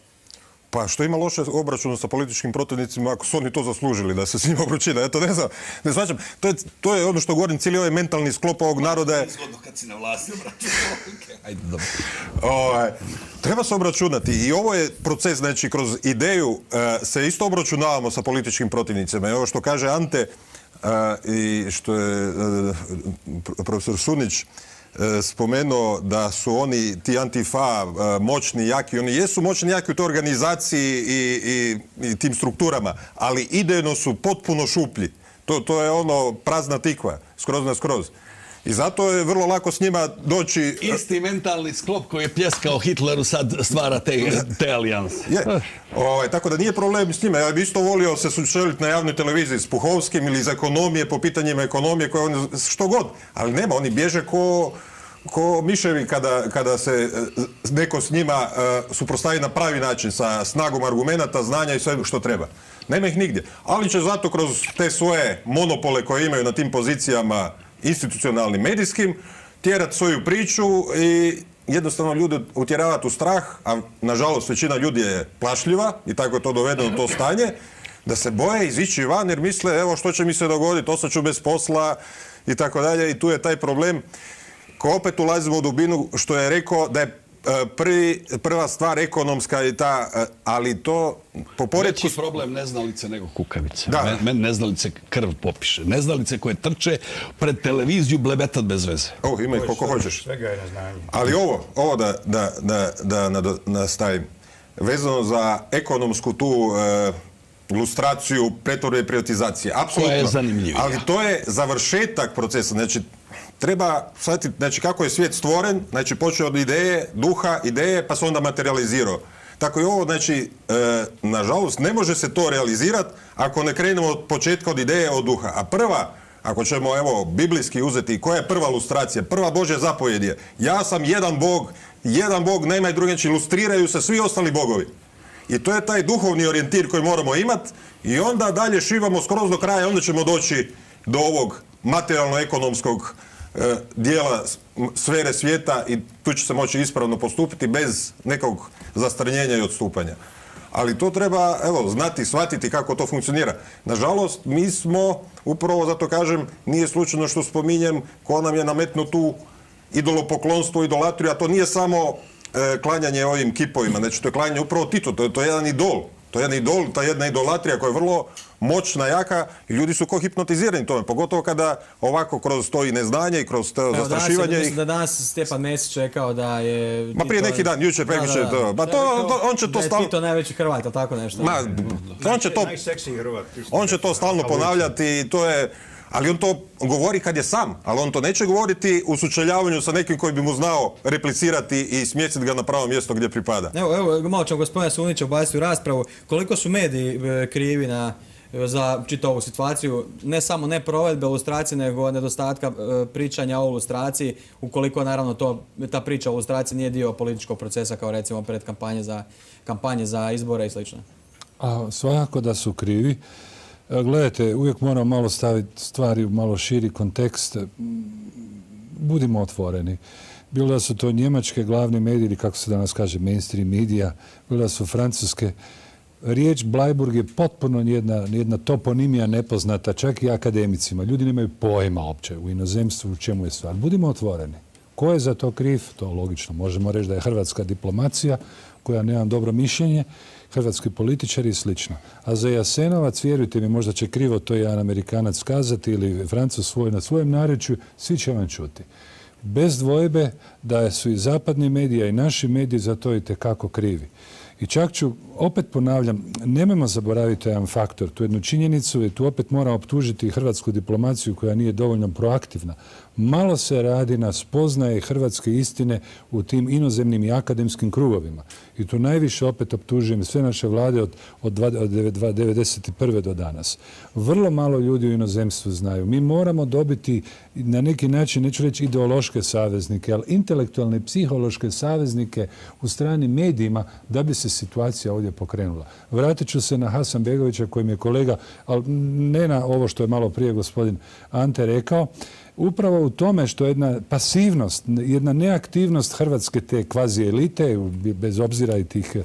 Pa što ima loše obračunu sa političkim protivnicima ako su oni to zaslužili da se s njima obračuna? Ja to ne znam, ne svačam. To je, to je ono što govorim, cijeli ovaj mentalni sklop ovog naroda je... Izgodno kad si na vlasti obračunao. Ajde, dobro. Ovaj, treba se obračunati i ovo je proces, znači kroz ideju e, se isto obračunavamo sa političkim protivnicima. I ovo što kaže Ante e, i što je e, profesor Sunić spomenuo da su oni, ti Antifa, moćni, jaki. Oni jesu moćni, jaki u toj organizaciji i, i, i tim strukturama, ali idejno su potpuno šuplji. To, to je ono prazna tikva, skroz na skroz. I zato je vrlo lako s njima doći... Isti mentalni sklop koji je pljeskao Hitleru sad stvara te, te alijanse. Je. Ovaj, tako da nije problem s njima. Ja bi isto volio se sučeliti na javnoj televiziji s Puhovskim ili iz ekonomije, po pitanjima ekonomije, koje oni, što god. Ali nema, oni bježe ko, ko miševi kada, kada se neko s njima uh, suprotstavi na pravi način, sa snagom argumenata, znanja i sve što treba. Nema ih nigdje. Ali će zato kroz te svoje monopole koje imaju na tim pozicijama institucionalnim, medijskim, tjerati svoju priču i jednostavno ljude utjeravati u strah, a nažalost većina ljudi je plašljiva i tako je to dovedeno u to stanje, da se boje izići van jer misle evo što će mi se dogoditi, ostaću bez posla i tako dalje i tu je taj problem. Ko opet ulazimo u dubinu što je rekao da je Prvi, prva stvar ekonomska i ta, ali to po poredku... Veći problem neznalice nego kukavice. Da. Meni neznalice krv popiše. Neznalice koje trče pred televiziju blebetat bez veze. O, ima ih koliko hoćeš. Svega je neznanje. Ali ovo, ovo da, da, da, da, da nastavim. Vezano za ekonomsku tu e, ilustraciju pretvorbe i privatizacije. Apsolutno. Koja je zanimljivija. Ali to je završetak procesa. Znači, treba shvatiti znači, kako je svijet stvoren, znači počeo od ideje, duha, ideje, pa se onda materializirao. Tako i ovo, znači, e, nažalost, ne može se to realizirati ako ne krenemo od početka od ideje, od duha. A prva, ako ćemo, evo, biblijski uzeti, koja je prva ilustracija? Prva Božja zapovjed je, ja sam jedan Bog, jedan Bog, nema i drugi, znači, ilustriraju se svi ostali bogovi. I to je taj duhovni orijentir koji moramo imati i onda dalje šivamo skroz do kraja, onda ćemo doći do ovog materijalno-ekonomskog dijela sfere svijeta i tu će se moći ispravno postupiti bez nekog zastrnjenja i odstupanja. Ali to treba, evo, znati, shvatiti kako to funkcionira. Nažalost, mi smo, upravo zato kažem, nije slučajno što spominjem, ko nam je nametnuo tu idolopoklonstvo, idolatriju, a to nije samo e, klanjanje ovim kipovima, znači to je klanjanje upravo Titu, to je, to je jedan idol. To je jedan idol, ta jedna idolatrija koja je vrlo moćna, jaka i ljudi su ko hipnotizirani tome, pogotovo kada ovako kroz to i neznanje i kroz to zastrašivanje. Danas, mislim da danas Stjepan Mesić rekao da je... Ma prije neki dan, jučer, prekjučer, to. Ma to, on će to stalno... Da je Tito najveći Hrvat, ali tako nešto. Ma, on će to... Najseksiji Hrvat. On će to stalno ponavljati i to je... Ali on to govori kad je sam, ali on to neće govoriti u sučeljavanju sa nekim koji bi mu znao replicirati i smjestiti ga na pravo mjesto gdje pripada. Evo, evo malo ćemo gospodina Sunića ubaciti u raspravu. Koliko su mediji krivi na, za čitavu situaciju, ne samo ne provedbe ilustracije, nego nedostatka pričanja o ilustraciji, ukoliko naravno to, ta priča o ilustraciji nije dio političkog procesa kao recimo pred kampanje za, kampanje za izbore i slično? A svakako da su krivi. Gledajte, uvijek moramo malo staviti stvari u malo širi kontekst. Budimo otvoreni. Bilo da su to njemačke glavni mediji ili kako se danas kaže mainstream medija, bilo da su francuske. Riječ Bleiburg je potpuno jedna, jedna toponimija nepoznata, čak i akademicima. Ljudi nemaju pojma opće u inozemstvu u čemu je stvar. Budimo otvoreni. Ko je za to kriv? To logično. Možemo reći da je hrvatska diplomacija koja nema dobro mišljenje, hrvatski političari i slično. A za Jasenovac, vjerujte mi, možda će krivo to jedan Amerikanac kazati ili Francuz svoj na svojem narječju, svi će vam čuti. Bez dvojbe da su i zapadni mediji i naši mediji za to itekako krivi. I čak ću, opet ponavljam, nemojmo zaboraviti jedan faktor, tu jednu činjenicu i tu opet moram optužiti hrvatsku diplomaciju koja nije dovoljno proaktivna. Malo se radi na spoznaje hrvatske istine u tim inozemnim i akademskim krugovima. I tu najviše opet optužujem sve naše vlade od, od devedeset prve do danas. Vrlo malo ljudi u inozemstvu znaju. Mi moramo dobiti na neki način, neću reći ideološke saveznike, ali intelektualne i psihološke saveznike u stranim medijima da bi se situacija ovdje pokrenula. Vratit ću se na Hasanbegovića kojim je kolega, ali ne na ovo što je malo prije gospodin Ante rekao, upravo u tome što je jedna pasivnost, jedna neaktivnost hrvatske te kvazi elite, bez obzira i tih,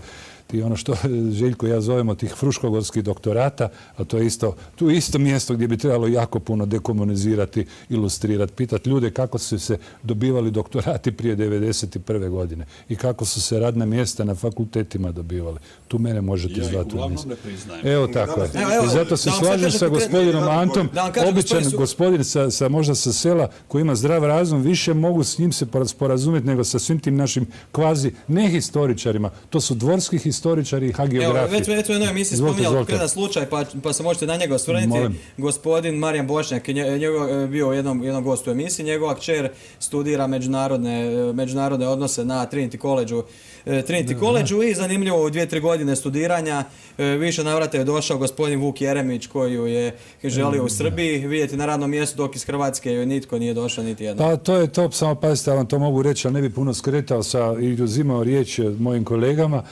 ti ono što Željko i ja zovemo tih fruškogorskih doktorata, a to je isto, tu isto mjesto gdje bi trebalo jako puno dekomunizirati, ilustrirati, pitati ljude kako su se dobivali doktorati prije devedeset prve godine i kako su se radna mjesta na fakultetima dobivali. Tu mene možete ja zvati. uglavnom ne priznajem. Evo tako je. I zato se slažem sa gospodinom Antom, običan gospodin sa, sa, možda sa sela koji ima zdrav razum, više mogu s njim se sporazumjeti nego sa svim tim našim kvazi nehistoričarima. To su dvorski historičari i hagiografi. Evo, već već u jednoj emisiji spominjali konkretan slučaj, pa, pa se možete na njega osvrnuti. Gospodin Marijan Bošnjak, njegov je bio jednom, jednom gostu u emisiji, njegova kćer studira međunarodne, međunarodne odnose na Trinity College-u. Trinity College-u i zanimljivo u dvije, tri godine studiranja više navrata je došao gospodin Vuk Jeremić koji ju je želio u Srbiji vidjeti na radnom mjestu dok iz Hrvatske joj nitko nije došao niti jedno. Pa to je to, samo pazite, ja vam to mogu reći, ali ne bi puno skretao sa i uzimao riječ mojim kolegama.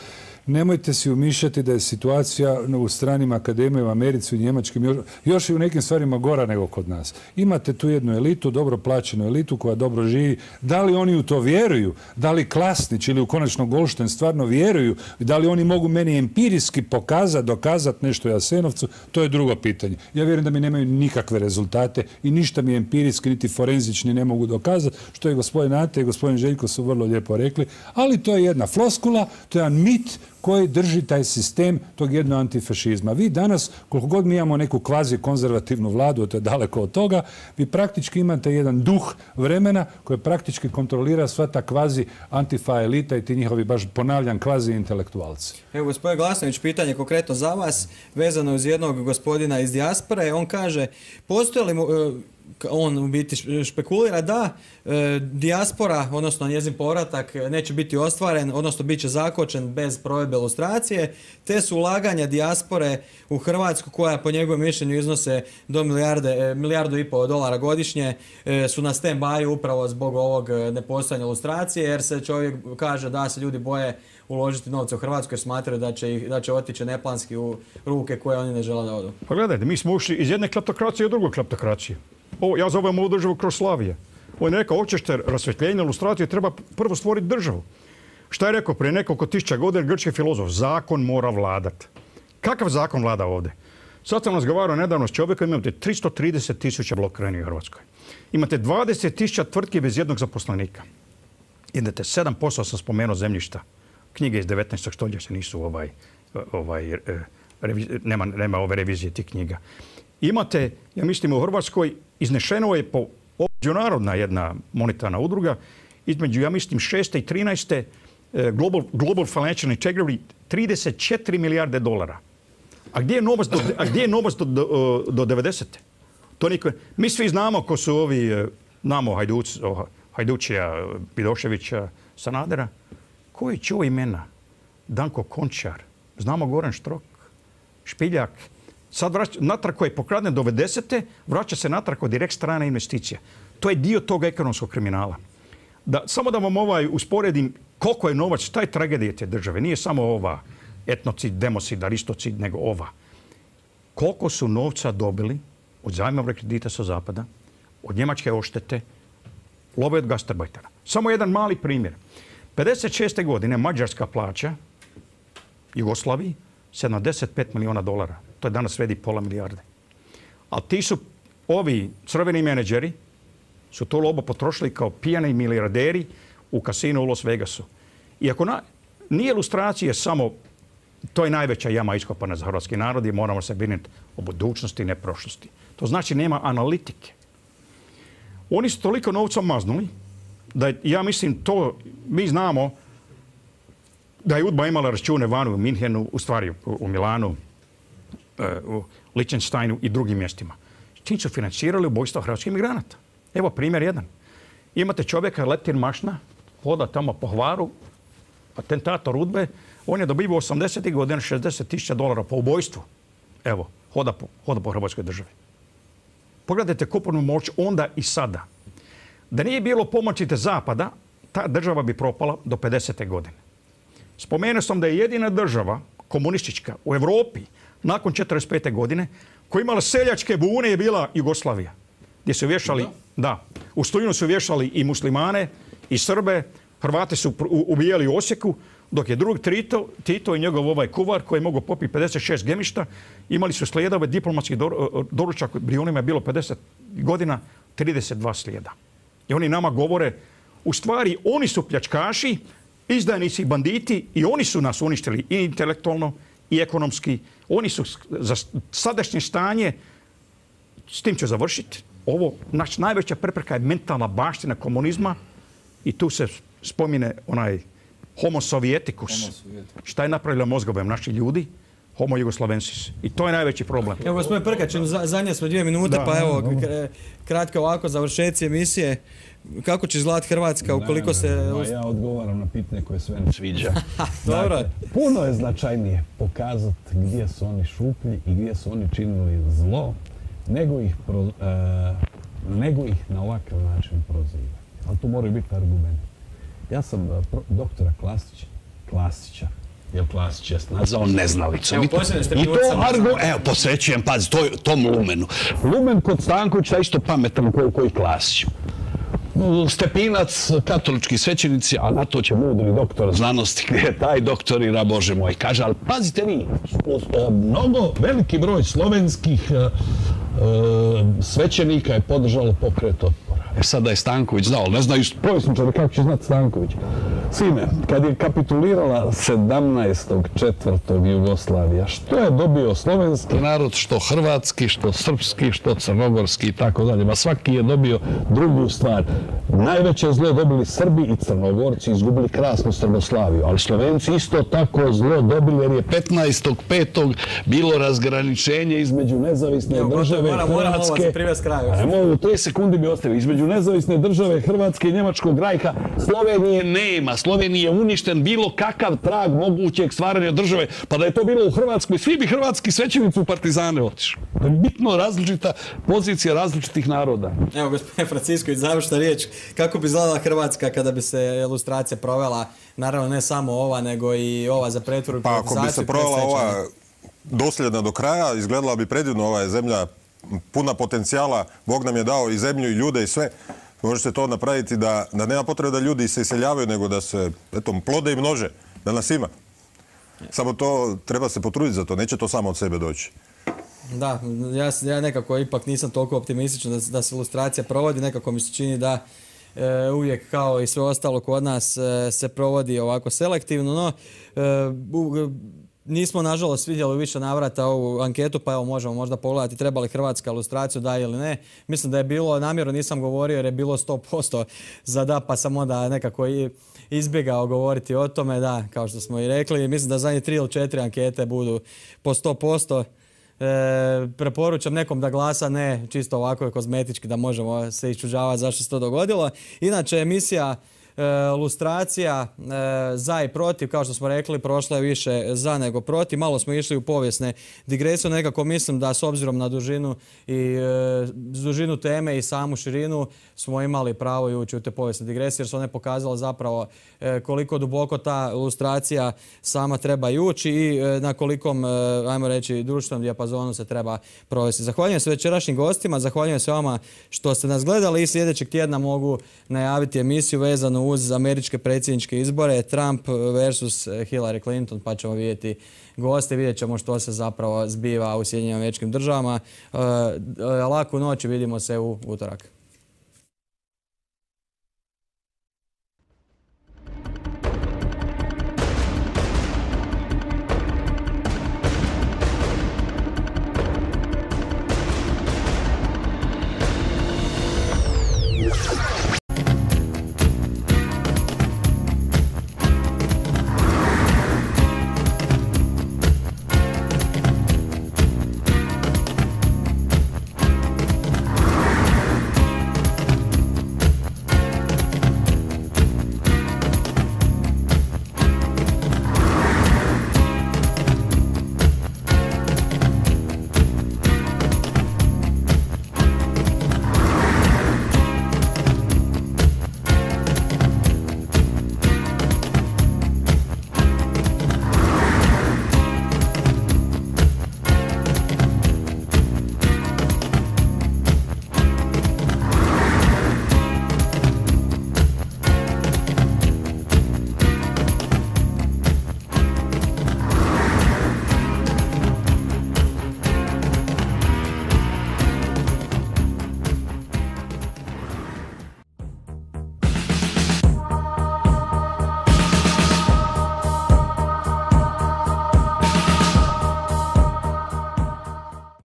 Nemojte si umišljati da je situacija u stranim akademijama, u Americi, u Njemačkim, još, još i u nekim stvarima gora nego kod nas. Imate tu jednu elitu, dobro plaćenu elitu koja dobro živi. Da li oni u to vjeruju? Da li Klasnić ili u konačno Goldstein stvarno vjeruju? Da li oni mogu meni empirijski pokazati, dokazati nešto u Jasenovcu? To je drugo pitanje. Ja vjerujem da mi nemaju nikakve rezultate i ništa mi empirijski niti forenzični ne mogu dokazati, što je gospodin Ante i gospodin Željko su vrlo lijepo rekli, ali to je jedna floskula, to je jedan mit koji drži taj sistem tog jednog antifašizma. Vi danas, koliko god mi imamo neku kvazi konzervativnu vladu, to je daleko od toga, vi praktički imate jedan duh vremena koji praktički kontrolira sva ta kvazi antifa elita i ti njihovi, baš ponavljam, kvazi intelektualci. Evo, gospodin Glasnović, pitanje konkretno za vas, vezano uz jednog gospodina iz dijaspore. On kaže, postoje li mu, on u biti špekulira da e, dijaspora, odnosno njezin povratak neće biti ostvaren, odnosno bit će zakočen bez provedbe lustracije, te su ulaganja dijaspore u Hrvatsku, koja po njegovom mišljenju iznose do milijarde, e, milijardu i pol dolara godišnje, e, su na stand-by upravo zbog ovog nepostojanja lustracije, jer se čovjek kaže da se ljudi boje uložiti novce u Hrvatsku jer smatraju da će, ih, da će otići neplanski u ruke koje oni ne žele da odu. Pa gledajte, mi smo ušli iz jedne kleptokracije u drugu kleptokraciju. Ovo, ja zovem ovu državu Kroslavije. On je rekao, hoćete rasvjetljenje, lustraciju, treba prvo stvoriti državu. Šta je rekao prije nekoliko tisuća godina grčki filozof? Zakon mora vladat. Kakav zakon vlada ovdje? Sad sam razgovarao nedavno s čovjekom, imate tristo trideset tisuća blokiranih u Hrvatskoj. Imate dvadeset tisuća tvrtki bez jednog zaposlenika. Idete, sedam posto sam spomenuo zemljišta. Knjige iz devetnaestog stoljeća nisu ovaj, ovaj, nema, nema ove revizije tih knjiga. Imate, ja mislim u Hrvatskoj, iznešeno je po međunarodna jedna monetarna udruga, između, ja mislim, šeste i trinaeste Global, Global Financial Integrity, trideset četiri milijarde dolara. A gdje je novac do, a gdje je novac do, do, do devedesete? To niko, mi svi znamo ko su ovi, znamo Hajduc, Hajdučija, Vidoševića, Sanadera. Koji čuva imena? Danko Končar, znamo Goran Štrok, Špiljak. Sad vraća, natrag koji je pokraden do devedesete, vraća se natrag od direkt strane investicija. To je dio tog ekonomskog kriminala. Da, samo da vam ovaj usporedim koliko je novac, šta je tragedija te države. Nije samo ova etnocid, democid, aristocid, nego ova. Koliko su novca dobili od zajmova kredita sa zapada, od njemačke oštete, love od gastarbajtera. Samo jedan mali primjer. pedeset šeste godine Mađarska plaća Jugoslaviji sedamdeset pet milijuna dolara. To je danas vredi pola milijarde. A ti su, ovi crveni menadžeri, su to lobo potrošili kao pijani milijarderi u kasinu u Las Vegasu. Iako na, nije ilustracija samo, to je najveća jama iskopana za hrvatski narod i moramo se brinuti o budućnosti, ne prošlosti. To znači nema analitike. Oni su toliko novca maznuli da je, ja mislim to, mi znamo da je UDBA imala račune vanu u Minhenu, u stvari u, u Milanu, u Liechtensteinu i drugim mjestima. Čim su financirali ubojstva hrvatskih migranata. Evo primjer jedan. Imate čovjeka, Letin Mašna, hoda tamo po Hvaru, atentator UDBE, on je dobivao osamdesetih godina šezdeset tisuća dolara po ubojstvu. Evo, hoda po, hoda po Hrvatskoj državi. Pogledajte kupovnu moć onda i sada. Da nije bilo pomoći te zapada, ta država bi propala do pedesete godine. Spomenuo sam da je jedina država komunistička u Europi nakon četrdeset pete godine koja imala seljačke bune je bila Jugoslavija. Gdje su vješali, da, da u Stojinu su vješali i muslimane i Srbe, Hrvati su ubijali u Osijeku, dok je drug Tito, Tito i njegov ovaj kuvar koji je mogao popiti pedeset šest gemišta, imali su slijedove diplomatskih doručaka, Brijunima je bilo pedeset godina, trideset dva slijeda. I oni nama govore, u stvari oni su pljačkaši, izdajnici, banditi i oni su nas uništili i intelektualno i ekonomski. Oni su za sadašnje stanje, s tim ću završiti, ovo, naš najveća prepreka je mentalna baština komunizma i tu se spomine onaj homo sovietikus. Šta je napravila mozgovem naši ljudi? Homo jugoslavensis. I to je najveći problem. Evo, gospodin Prkačin, zadnje smo dvije minute, da, pa evo, kratko ovako, završeci emisije. Kako će izgledati Hrvatska ukoliko se... Ne, ne, ja odgovaram na pitanje koje sve ne sviđa. Dobro. Dakle, puno je značajnije pokazati gdje su oni šuplji i gdje su oni činili zlo, nego ih, pro, uh, nego ih na ovakav način prozivati. Ali tu moraju biti argumenti. Ja sam uh, pro, doktora Klasića, Klasića jer Klasić je nazvao neznalicom. Evo, I to, posebno ste i to pljucama argo, znali. evo, posvećujem, pazi, to, tom Lumenu. Lumen kod Stankovića je isto pametan koliko i Klasić. Stepinac, katolički svećenici, a na to će mudri doktor znanosti, gdje je taj doktorira, Bože moj, kaže, ali pazite vi, mnogo, veliki broj slovenskih e, svećenika je podržalo pokret otpora. E sad da je Stanković znao, ne znaju povjesničari kako će znati Stanković. Sine, kad je kapitulirala sedamnaestog četvrtog Jugoslavija, što je dobio slovenski narod, što hrvatski, što srpski, što crnogorski i tako dalje. Ma svaki je dobio drugu stvar. Najveće zlo dobili Srbi i Crnogorci, izgubili krasnu Srboslaviju, ali Slovenci isto tako zlo dobili jer je petnaestog petog bilo razgraničenje između nezavisne Evo, države moram, moram ovo Hrvatske. za privest kraju. A mogu, tri sekundi bi ostavili. Između nezavisne države Hrvatske i Njemačkog rajha Slovenije nema. Slovenije je uništen bilo kakav trag mogućeg stvaranja države. Pa da je to bilo u Hrvatskoj, svi bi hrvatski svećenici u partizane otišli. To je bitno različita pozicija različitih naroda. Evo, gospodine Francisković, završna riječ. Kako bi izgledala Hrvatska kada bi se ilustracija provela, naravno ne samo ova, nego i ova za pretvorbu i Pa ako bi privatizaciju, se provela predstečajne? ova dosljedna do kraja, izgledala bi predivno. Ova je zemlja puna potencijala, Bog nam je dao i zemlju i ljude i sve. Može se to napraviti da, da nema potrebe da ljudi se iseljavaju, nego da se eto, plode i množe, da nas ima. Samo to treba se potruditi za to, neće to samo od sebe doći. Da, ja, ja nekako ipak nisam toliko optimističan da, da se ilustracija provodi, nekako mi se čini da e, uvijek kao i sve ostalo kod nas e, se provodi ovako selektivno, no e, u, nismo nažalost vidjeli više navrata ovu anketu, pa evo možemo možda pogledati treba li Hrvatska ilustraciju da ili ne. Mislim da je bilo, namjerno nisam govorio jer je bilo sto posto za da, pa sam onda nekako i izbjegao govoriti o tome, da, kao što smo i rekli. Mislim da zadnje tri ili četiri ankete budu po sto posto. E, preporučam nekom da glasa ne čisto ovako kozmetički da možemo se iščuđavati zašto se to dogodilo. Inače, emisija e, lustracija e, za i protiv, kao što smo rekli, prošla je više za nego protiv. Malo smo išli u povijesne digresije, nekako mislim da s obzirom na dužinu i e, dužinu teme i samu širinu smo imali pravo i ući u te povijesne digresije jer su one pokazale zapravo e, koliko duboko ta ilustracija sama treba i ući i e, na kolikom, e, ajmo reći, društvenom dijapazonu se treba provesti. Zahvaljujem se večerašnjim gostima, zahvaljujem se vama što ste nas gledali i sljedećeg tjedna mogu najaviti emisiju vezanu uz američke predsjedničke izbore, Trump versus Hillary Clinton, pa ćemo vidjeti goste, vidjet ćemo što se zapravo zbiva u Sjedinjenim Američkim Državama. E, laku noć i vidimo se u utorak.